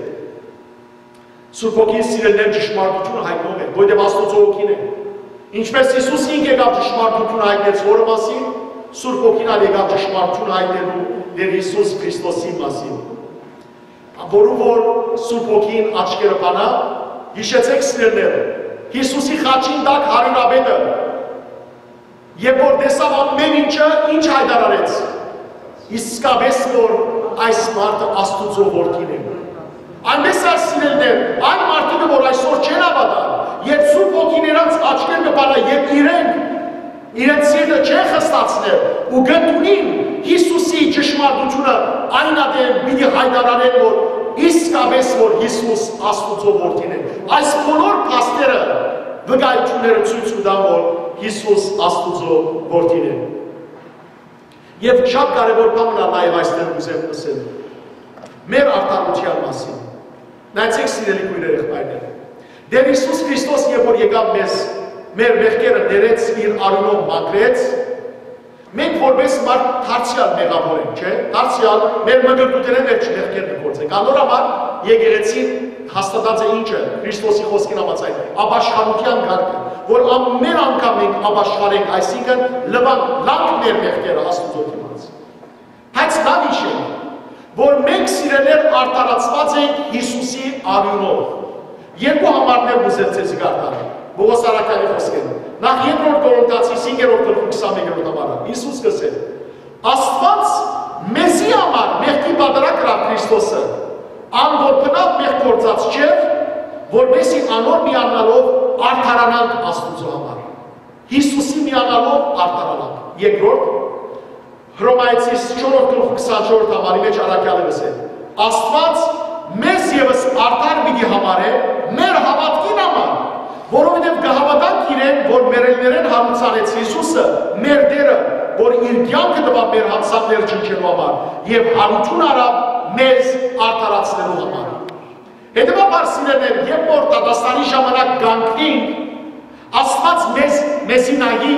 Սուրբ Հոգին, սիրելիներ, ճշմարտութիւնը յայտնող է, որովհետեւ Աստուծոյ Հոգին է։ Ինչպէս Յիսուս ինք եկաւ ճշմարտութիւնը յայտնեց հօրը մասին, Սուրբ Հոգին ալ եկաւ ճշմարտութիւնը յայտնելու Տէր Յիսուս Քրիստոսի մասին։ Որու որ Սուրբ Հոգին աչքերը բանայ, յիշեցէք, սիրելիներ, Յիսուսի խաչին տակ հարիւրապետը, երբ որ տեսաւ ամէն ինչը, ինչ յայտարարեց. «Իսկապէս որ այս մարդը Աստուծոյ որդին է»։ Այնպէս ալ, սիրելիներ, այն մարդիկը, որ այսօր չեն հաւատար, երբ Սուրբ Հոգին իրանց աչքեր կը բանայ եւ իրենք իրենց սիրտը չեն խստացներ ու կ'ընդունին Յիսուսի ճշմարտութիւնը, այն ատեն պիտի յայտարարեն, որ իսկապէս որ Յիսուս Աստուծոյ որդին է։ Այս բոլոր փաստերը, վկայութիւնները ցոյց կու տան, որ Յիսուս Աստուծոյ որդին է։ Եւ շատ կարեւոր բան մնալ նաեւ այստեղ կ'ուզեմ ըսել մեր արդարութեան մասին։ Նայեցեք, սիրելի քոյրեր, եղբայրներ, Տէր Յիսուս Քրիստոս երբ որ եկաւ մեզ, մեր մեղքերը ներեց, իր արիւնով մաքրեց, մենք որպես մարդ դարձեալ մեղաւոր ենք, չէ՞։ Դարձեալ մեր մկրտութենէն վերջ մեղքեր կը գործենք։ Անոր համար եկեղեցին հաստատած է ինչը, Քրիստոսի խօսքին համաձայն, ապաշխարութեան կարգը, որ ամէն անգամ մենք ապաշխարենք, այսինքն՝ լուանք, լանք մեր մեղքերը Աստուծոյ դիմաց։ Բայց լաւ յիշենք, որ մենք, սիրելիներ, արդարացուած ենք Յիսուսի արիւնով։ Երկու համարներ կ'ուզեմ ձեզի կարդամ, Պողոս առաքեալի խօսքերով։ Նախ, Երկրորդ Կորինթացիս հինգերորդ գլխի քսանմեկերորդ համարը։ Յիսուս կ'ըսէ. «Աստուած մեզի համար մեղքի պատարագ ըրաւ Քրիստոսը, ան որ բնաւ մեղք գործած չէր, որպէսզի անոր միանալով արդարանանք Աստուծոյ համար»։ Յիսուսի միանալով արդարանանք։ Երկրորդ, Հռոմայեցիս չորրորդ գլխի քսանչորսերորդ համարի մէջ առաքեալը կ'ըսէ. «Աստուած մեզ եւս արդար պիտի համարէ մեր հաւատքին համար, որովհետեւ կը հաւատանք իրեն, որ մեռելներէն յարուցանեց Յիսուսը, մեր Տէրը, որ իր կեանքը տուաւ մեր յանցանքները ջնջելու համար եւ յարութիւն առաւ մեզ արդարացնելու համար»։ Հետեւաբար, սիրելիներ, երբ որ դատաստանի ժամանակ կ'անքնինք, Աստուած մեզ, մեզի նայի,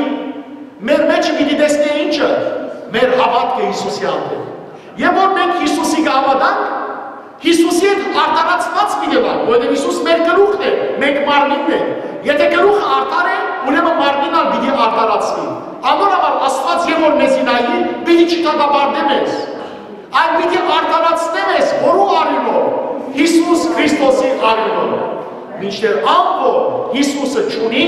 մեր մէջը պիտի տեսնէ ինչը, մեր հաւատքը Յիսուսի հանդեպ։ Երբ որ մենք Յիսուսի կը հաւատանք, Յիսուսի հետ արդարացուած պիտի ըլլանք, որովհետեւ Յիսուս մեր գլուխն է, մենք մարմինն ենք։ Եթէ գլուխը արդար է, ուրեմն մարմինն ալ պիտի արդարացուի։ Անոր համար Աստուած երբ որ մեզի նայի, պիտի չդատապարտէ մեզ, այլ պիտի արդարացնէ մեզ, որու արիւնով, Յիսուս Քրիստոսի արիւնով։ Մինչդեռ ան որ Յիսուսը չունի,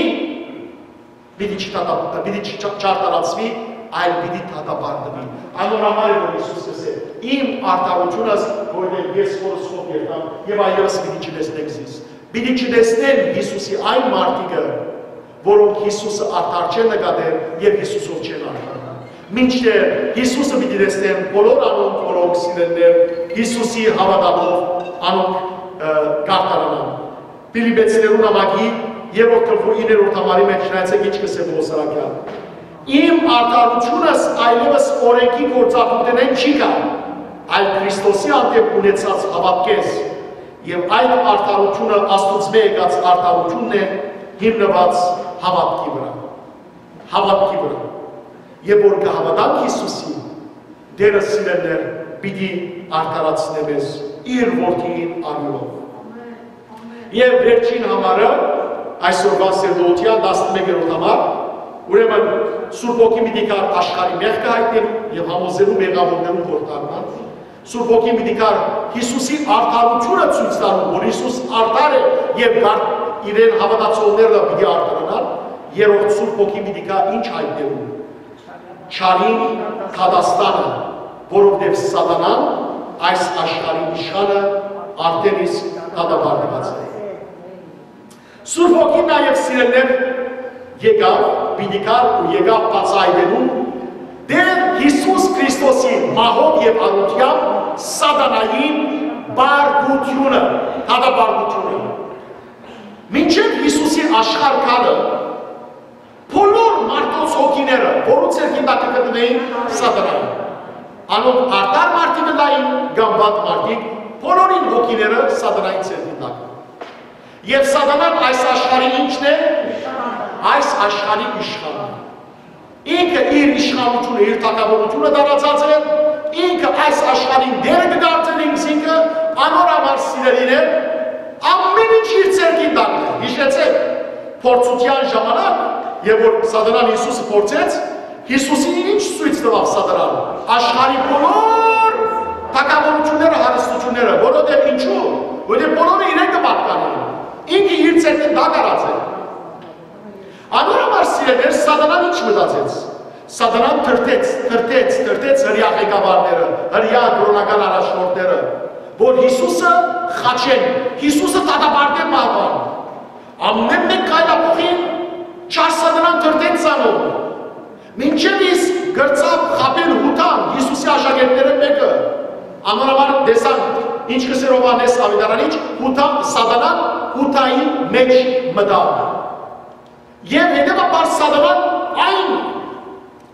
պիտի չդատապ-, պիտի չ-, չ-, չարդարացուի, այլ պիտի դատապարտուի։ Անոր համար է որ Յիսուս ըսէ. «Իմ արդարութիւնս, որովհետեւ ես հօրս քով կ'երթամ եւ այլեւս պիտի չտեսնեք զիս»։ Պիտի չտեսնեն Յիսուսի այն մարդիկը, որոնք Յիսուսը արդար չեն նկատեր եւ Յիսուսով չեն արդարնար։ Մինչդեռ Յիսուսը պիտի տեսնեն բոլոր անոնք, որոնք, սիրելիներ, Յիսուսի հաւատալով անոնք, ը, կ'արդարանան։ Փիլիպեցիներուն նամակի երրորդ գլխի իններորդ համարի մէջ նայեցէք ինչ կ'ըսէ Պողոս առաքեալը. «Իմ արդարութիւնս այլեւս օրէնքի գործառնութենէն չի գալ, այլ Քրիստոսի հանդէպ ունեցած հաւատքէս, Եւ այդ արդարութիւնը Աստուծմէ եկած արդարութիւնն է, հիմնուած հաւատքի վրայ։ Հաւատքի վրայ։ Եւ որ կը հաւատանք Յիսուսին, Տէրը, սիրելիներ, պիտի արդարացնէ մեզ իր որդիին արիւնով։ Եւ վերջին համարը, այսօրուան սերտողութեան տասնմեկերորդ համար, ուրեմն Սուրբ Հոգին պիտի գար աշխարհի մեղքը յայտնելու եւ համոզելու մեղաւորներուն, որ դառնան։ Սուրբ Հոգին պիտի գար Յիսուսի արդարութիւնը ցոյց տալու, որ Յիսուս արդար է եւ կար իրեն հաւատացողները պիտի արդարանան։ Երրորդ, Սուրբ Հոգին պիտի գա ինչ յայտնելու, չարին դատաստանը, որովհետեւ Սատանան, այս աշխարհի իշխանը, արդէն իսկ դատապարտուած է։ Սուրբ Հոգին նաեւ, սիրելիներ, եկաւ, պիտի գար ու եկաւ բացայայտելու Տէր Յիսուս Քրիստոսի մահով եւ արութեամբ Սատանային պարտութիւնը, դատապարտութիւնը։ Մինչեւ Յիսուսի աշխարհ գալը, բոլոր մարդոց հոգիները, որոնց ձեռքին տակ կը գտնուէին, Սատանային։ Անոնք արդար մարդիկ ըլլային կամ վատ մարդիկ, բոլորին հոգիները Սատանային ձեռքին տակ։ Եւ Սատանան այս աշխարհի ի՞նչն է, այս աշխարհի իշխանը։ Ինքը իր իշխանութիւնը, իր թագաւորութիւնը տարածած է, ինքը այս աշխարհին տէրը կը կարծէ ինքզինքը, անոր համար, սիրելիներ, ամէն ինչ իր ձեռքին տակ է։ Յիշեցէք, փորձութեան ժամանակ, եւ որ Սատանան Յիսուսը փորձեց, Յիսուսին ի՞նչ ցոյց տուաւ Սատանան։ Աշխարհի բոլոր թագաւորութիւնները, հարստութիւնները, որովհետեւ ինչու՞, որովհետեւ բոլորը իրեն կը պատկանեն։ Ինքը իր ձեռքին տակ առած է։ Անոր համար, սիրելիներ, Սատանան ի՞նչ մտածեց։ Սատանան դրդեց, դրդեց, դրդեց հրեայ ղեկավարները, հրեայ կրօնական առաջնորդները, որ Յիսուսը խաչեն, Յիսուսը դատապարտեն մահուան։ Ամէն մէկ քայլափոխին չար Սատանան դրդեց զանոնք։ Մինչեւ իսկ կրցաւ խաբել Յուդան, Յիսուսի աշակերտներէն մէկը։ Անոր համար տեսանք, ինչ կ'ըսէր Յովհաննէս Աւետարանիչ, Յուդա, Սատանան Յուդային մէջ մտաւ։ Եւ հետեւաբար Սատանան այն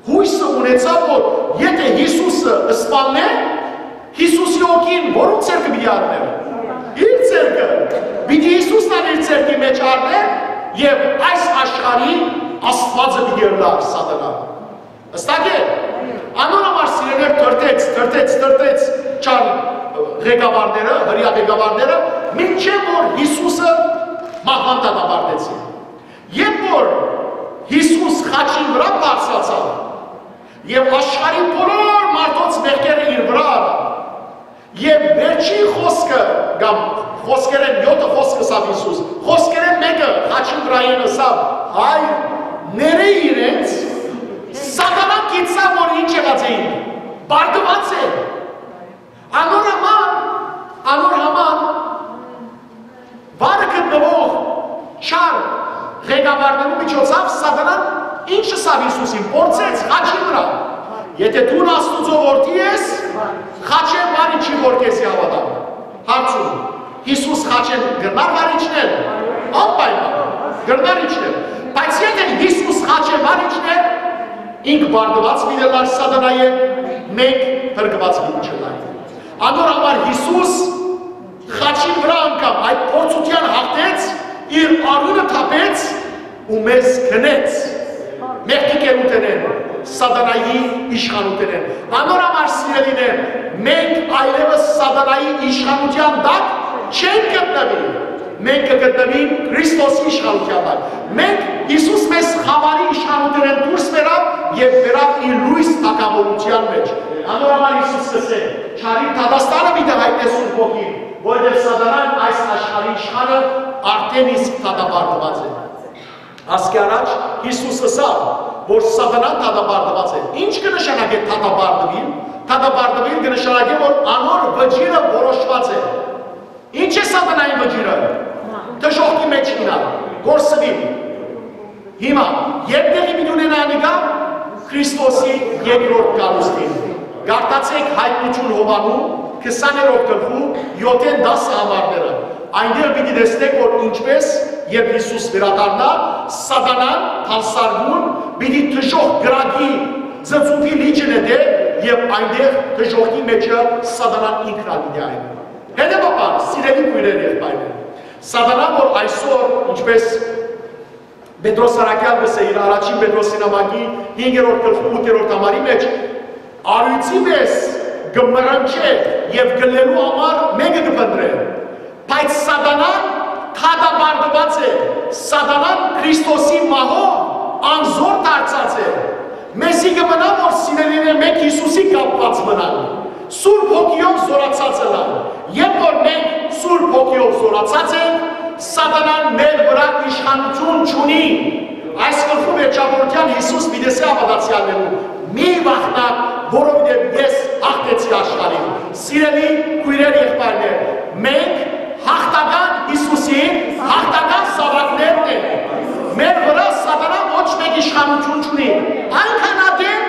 յոյսը ունեցաւ, որ եթէ Յիսուսը սպաննէ, Յիսուսի հոգին որո՞նց ձեռքը պիտի առնէր։ Իր ձեռքը։ Պիտի Յիսուսն ալ իր ձեռքի մէջ առնէր եւ այս աշխարհի Աստուածը պիտի ըլլար Սատանան։ Հստակ է։ Անոր համար, սիրելիներ, դրդեց, դրդեց, դրդեց չար ղեկավարները, հրեայ ղեկավարները, մինչեւ որ Յիսուսը մահուան դատապարտեցին։ Երբ որ Յիսուս խաչին վրայ բարձրացաւ եւ աշխարհի բոլոր մարդոց մեղքերը իր վրայ առաւ, եւ վերջին խոսքը կամ խոսքերէն յոթը խոսքը ըսաւ Յիսուս, խոսքերէն մէկը խաչին վրայէն ըսաւ. «Հայր, ներէ իրենց», Սատանան գիտցաւ, որ ինչ եղած էին, պարտուած է։ Անոր համար, անոր համար վարը գտնուող չար ղեկավարներու միջոցով Սատանան ինչ ըսաւ Յիսուսին, փորձեց խաչի վրայ. «Եթէ դուն Աստուծոյ որդի ես, խաչէն վար իջի, որ քեզի հաւատամ»։ Հարցում. Յիսուս խաչէն կրնա՞ր վար իջնել։ Անպայման կրնար իջնել։ Բայց եթէ Յիսուս խաչէն վար իջներ, ինք պարտուած պիտի ըլլար Սատանայէն, մենք փրկուած պիտի չըլլանք։ Անոր համար Յիսուս խաչին վրայ անգամ այդ փորձութեան հաղթեց, իր արիւնը թափեց ու մեզ գնեց մեղքի կերութենէն, Սատանայի իշխանութենէն։ Անոր համար, սիրելիներ, մենք այլեւս Սատանայի իշխանութեան տակ չենք գտնուի։ Մենք կը գտնուինք Քրիստոսի իշխանութեան տակ։ Մենք, Յիսուս մեզ խաւարի իշխանութենէն դուրս բերաւ եւ բերաւ իր լոյս թագաւորութեան մէջ։ Անոր համար Յիսուս կ'ըսէ. «Չարին դատաստանը պիտի յայտնէ Սուրբ Հոգին, որովհետեւ Սատանան, այս աշխարհի իշխանը, արդէն իսկ դատապարտուած է»։ Ասկի առաջ Յիսուս ըսաւ, որ Սատանան դատապարտուած է։ Ի՞նչ կը նշանակէ դատապարտուիլ։ Դատապարտուիլ կը նշանակէ, որ անոր վճիռը որոշուած է։ Ի՞նչ է Սատանային վճիռը։ Դժոխքի մէջ գնալ, կորսուիլ։ Հիմա, ե՞րբ տեղի պիտի ունենայ անիկա, Քրիստոսի երկրորդ գալուստին։ Կարդացէք Յայտնութիւն Յովհաննու, քսաներորդ գլխու, եօթէն տասը համարները։ Այնտեղ պիտի տեսնէք, որ ինչպէս, երբ Յիսուս վերադառնայ, Սատանան, թալսարկուն, պիտի դժոխք կրակի ծծուփի լիճը նետէ եւ այնտեղ դժոխքի մէջը Սատանան ինքն ալ պիտի այրի։ Հետեւաբար, սիրելի քոյրեր, եղբայրներ, Սատանան, որ այսօր, ինչպես Պետրոս Առաքեալ կ'ըսէ իր առաջին Պետրոսի նամակի հինգերորդ գլխու ութերորդ համարի մեջ, արիւցի պէս կը մռնչէ եւ կը լելու համար մէկը կը փնտռէ։ Բայց Սատանան դատապարտուած է, Սատանան Քրիստոսի մահով անզօր դարձած է։ Մեզի կը մնայ, որ սիրելիներ, մենք Յիսուսի կապուած մնանք, Սուրբ Հոգիով զօրացած ըլլանք, եւ որ մենք Սուրբ Հոգիով զօրացած ենք, Սատանան մեր վրայ իշխանութիւն չունի։ Այս գլխու վերջավորութեան Յիսուս պիտի ըսէ հաւատացեալներուն. «Մի վախնաք, որովհետեւ ես յաղթեցի աշխարհին»։ Սիրելի քոյրեր, եղբայրներ, մենք յաղթական Յիսուսի յաղթական զաւակներն ենք։ Մեր վրայ Սատանան ոչ մէկ իշխանութիւն չունի։ Այնքան ատեն,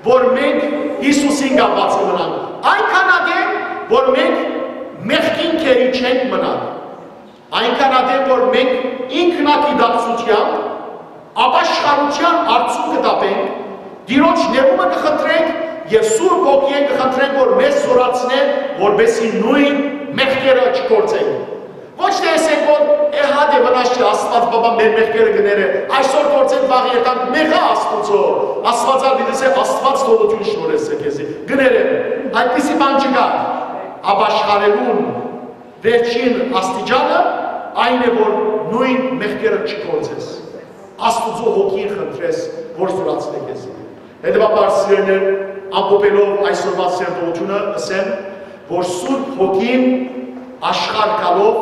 որ մենք Յիսուսին կապուած կը մնանք, այնքան ատեն, որ մենք մեղքին գերի չենք մնալ, այնքան ատեն, որ մենք ինքնագիտակցութեամբ ապաշխարութեան արդիւնքը կտապենք, Տիրոջ ներումը կը խնդրենք եւ Սուրբ Հոգիէն կը խնդրենք, որ մեզ զօրացնէ, որպէսզի նոյն մեղքերը չգործենք։ Ոչ թէ ըսենք, որ «Է, հա, դե, վնաս չի, Աստուած Բաբան մեր մեղքերը կը ներէ, այսօր գործենք, վաղ երթանք, մեղա Աստուծոյ»։ Աստուած ալ պիտի ըսէ. «Աստուած թողութիւն շնորհեցէ քեզի, կը ներեմ»։ Այդպիսի բան չկայ։ Ապաշխարելուն վերջին աստիճանը այն է, որ նոյն մեղքերը չգործես, Աստուծոյ Հոգին խնդրես, որ զօրացնէ քեզի։ Հետեւաբար, սիրելիներ, ամփոփելով այսօրվա սերտողութիւնը, ըսեմ, որ Սուրբ Հոգին աշխարհ գալով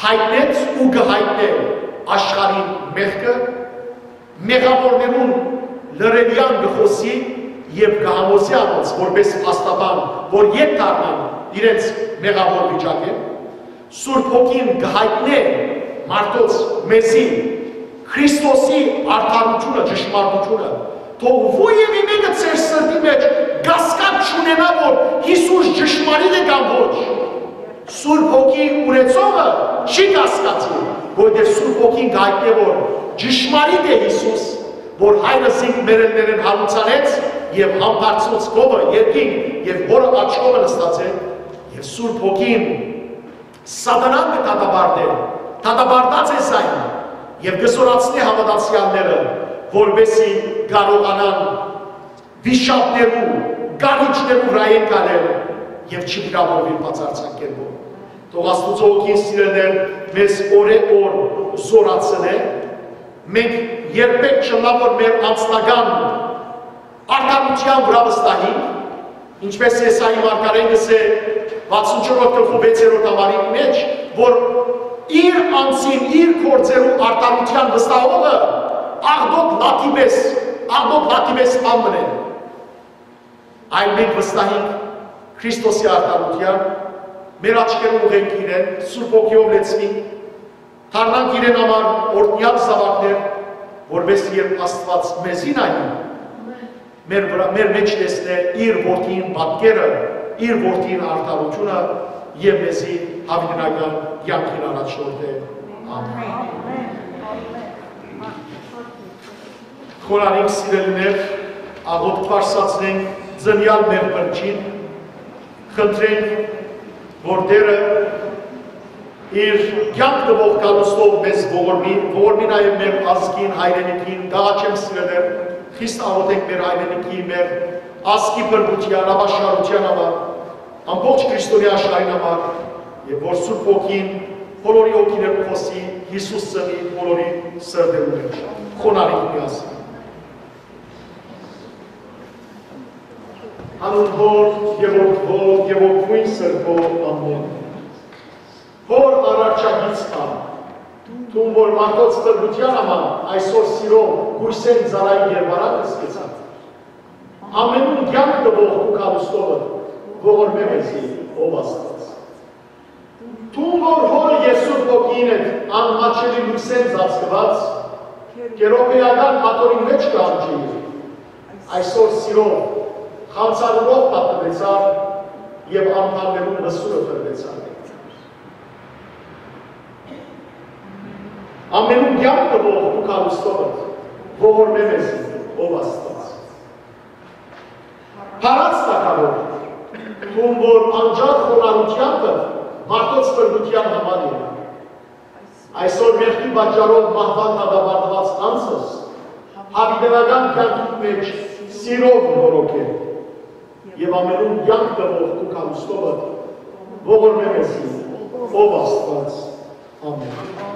յայտնեց ու կը յայտնէ աշխարհին մեղքը, մեղաւորներուն լռելեան կը խօսի եւ կը համոզի անոնց, որպէս փաստաբան, որ ետ դառնան իրենց մեղաւոր վիճակէն։ Սուրբ Հոգին կը յայտնէ մարդոց, մեզի, Քրիստոսի արդարութիւնը, ճշմարտութիւնը, թող ոեւէ մէկը ձեր սրտի մեջ կասկած չունենայ, որ Յիսուս ճշմարիտ է կամ ոչ։ Սուրբ Հոգի ունեցողը չի կասկածի, որտեղ Սուրբ Հոգին կ'այտնէ, որ ճշմարիտ է Յիսուս, որ Հայրը զինք մեռելներէն յարուցանեց եւ համբարձուց քովը երկինք եւ Հօրը աջ կողմը նստած է, եւ Սուրբ Հոգին Սատանան կը դատապարտէ, դատապարտած է զայն, եւ կը զօրացնէ հաւատացեալները, որպէսզի կարողանան վիշապներու, կառիչներու վրայէն գալել եւ չվիրաւորուին բացարձակ կերպով։ Թող Աստուծոյ Հոգին, սիրելիներ, մեզ օրէ օր զօրացնէ, մենք երբեք չըլլայ, որ մեր անձնական արդարութեան վրայ վստահինք, ինչպէս Եսայի մարգարէն կ'ըսէ վաթսուն չորրորդ գլխու վեցերորդ համարի մեջ, որ իր անձին, իր գործերու արդարութեան վստահողը աղտոտ լաթի պէս, աղտոտ լաթի պէս բան մնեն։ Այլ մենք վստահենք Քրիստոսի արդարութեան, մեր աչքերը ուղղենք իրեն, Սուրբ Հոգիով լեցուինք, դառնանք իրեն համար օրհնեալ զաւակներ, որպէս երբ Աստուած մեզի նայի, մեր վրայ, մեր մեջ տեսնէ իր որդին պատկերը, իր որդին արդարութիւնը եւ մեզի յաւիտենական կեանքին առաջնորդէ։ Ամէն։ Խոնարհենք, սիրելիներ, աղօթք բարձրացնենք ծնեալ մեր Փրկչին, խնդրենք, որ Տէրը իր կեանք տուող գալուստով մեզ ողորմի, ողորմի նաեւ մեր ազգին, հայրենիքին, կ'աղաչեմ, սիրելիներ, խիստ աղօթենք մեր հայրենիքի, մեր ազգի փրկութեան, ապաշխարութեան համար, ամբողջ քրիստոնեայ աշխարհին համար, եւ որ Սուրբ Հոգին բոլորի հոգիներուն խօսի, Յիսուս ծնի բոլորի սրտերու մեջ։ Խոնարհենք միասին։ Անուն Հօր եւ Որդի Հօր եւ Ոգիին Սրբոյ, ամէն։ Հօր, արարչագիծ ա, դուն որ մարդոց փրկութեան համար այսօր սիրով կոյսէն ծառայի կերպարանքը սկսած, ամենուն կեանք տուող քու գալուստովը, ողորմէ մեզի, ով Աստուած։ Դուն որ Հօրը եւ Սուրբ Հոգին հետ անմաչելի լոյսէն ծածկուած, կերովեական աթոռին մէջ կ'անջեիր, այսօր սիրով, խանձարուրով պատմեցար եւ անդամներուն մսուրը տրվեցար։ Ամենուն կեանք տուող քու գալուստովը, ողորմէ մեզի, ով Աստուած։ Փառաց Թագաւոր, Ում որ անջատ խոնարհութեանդ մարդոց փրկութեան համար եղաւ։ Այսօր մեղքի պատճառով մահուան դատապարտուած անձս, յաւիտենական կյանքիդ մէջ սիրով նորոգէ եւ ամենուն կյանք տուող քու գալուստովդ ողորմէ մեզի, ով Աստուած։ Ամէն։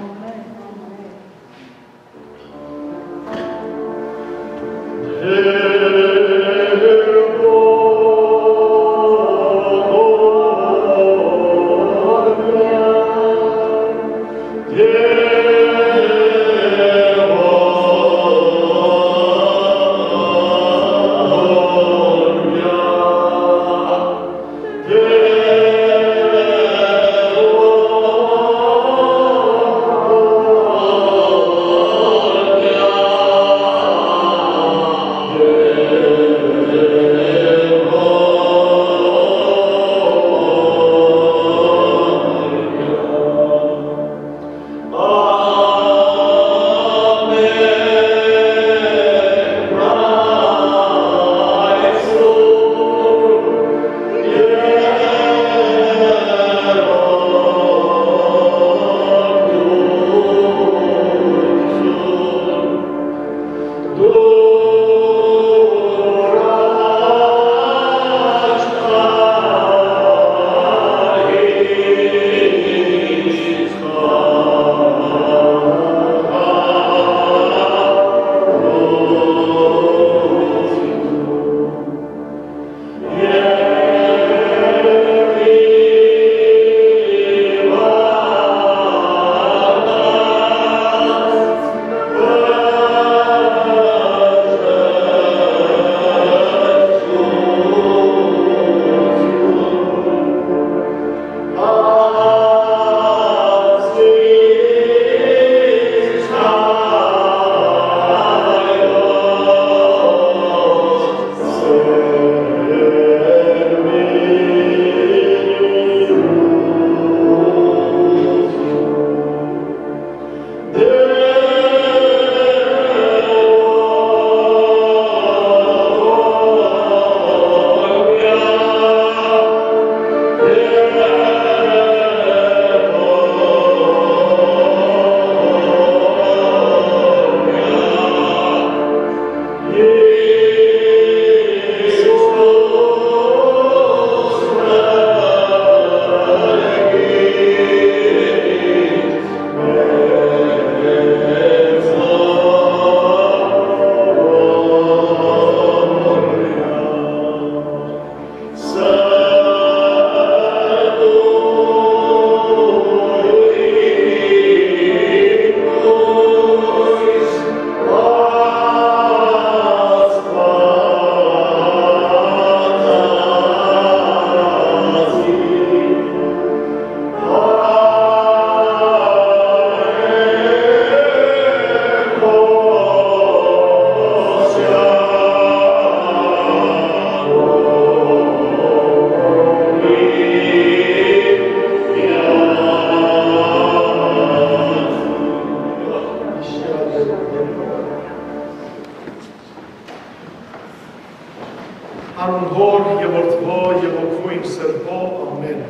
Անուն Հօր եւ Որդւոյ եւ Հոգիին Սրբոյ։ Ամէն։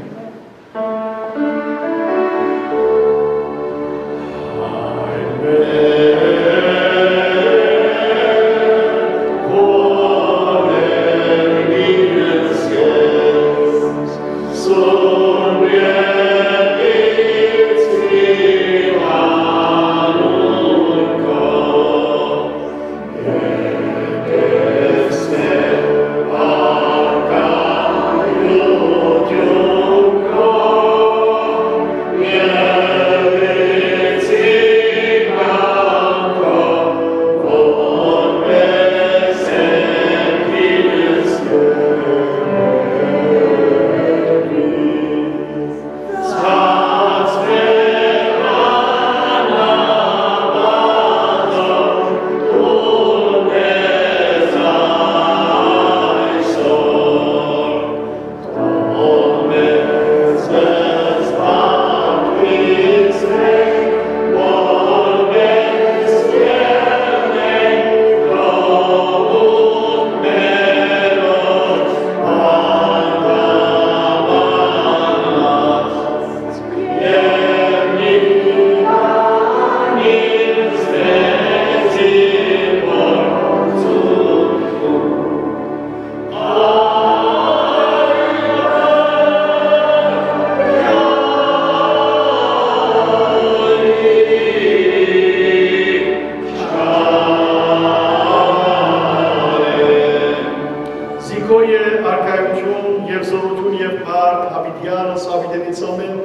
Յանը սավիտենից ամեն,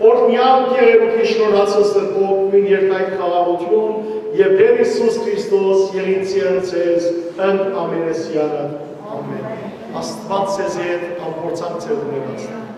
օրհնեալ կերեւուքի շնորհացս դրբող նույն երկայ խաղաղութիւն եւ Տեր Յիսուս Քրիստոս եղիցիան ձեզ ընդ ամենեսյանը։ Ամեն։ Աստուած ձեզ հետ, ամփորձանք ձեր ունենաց։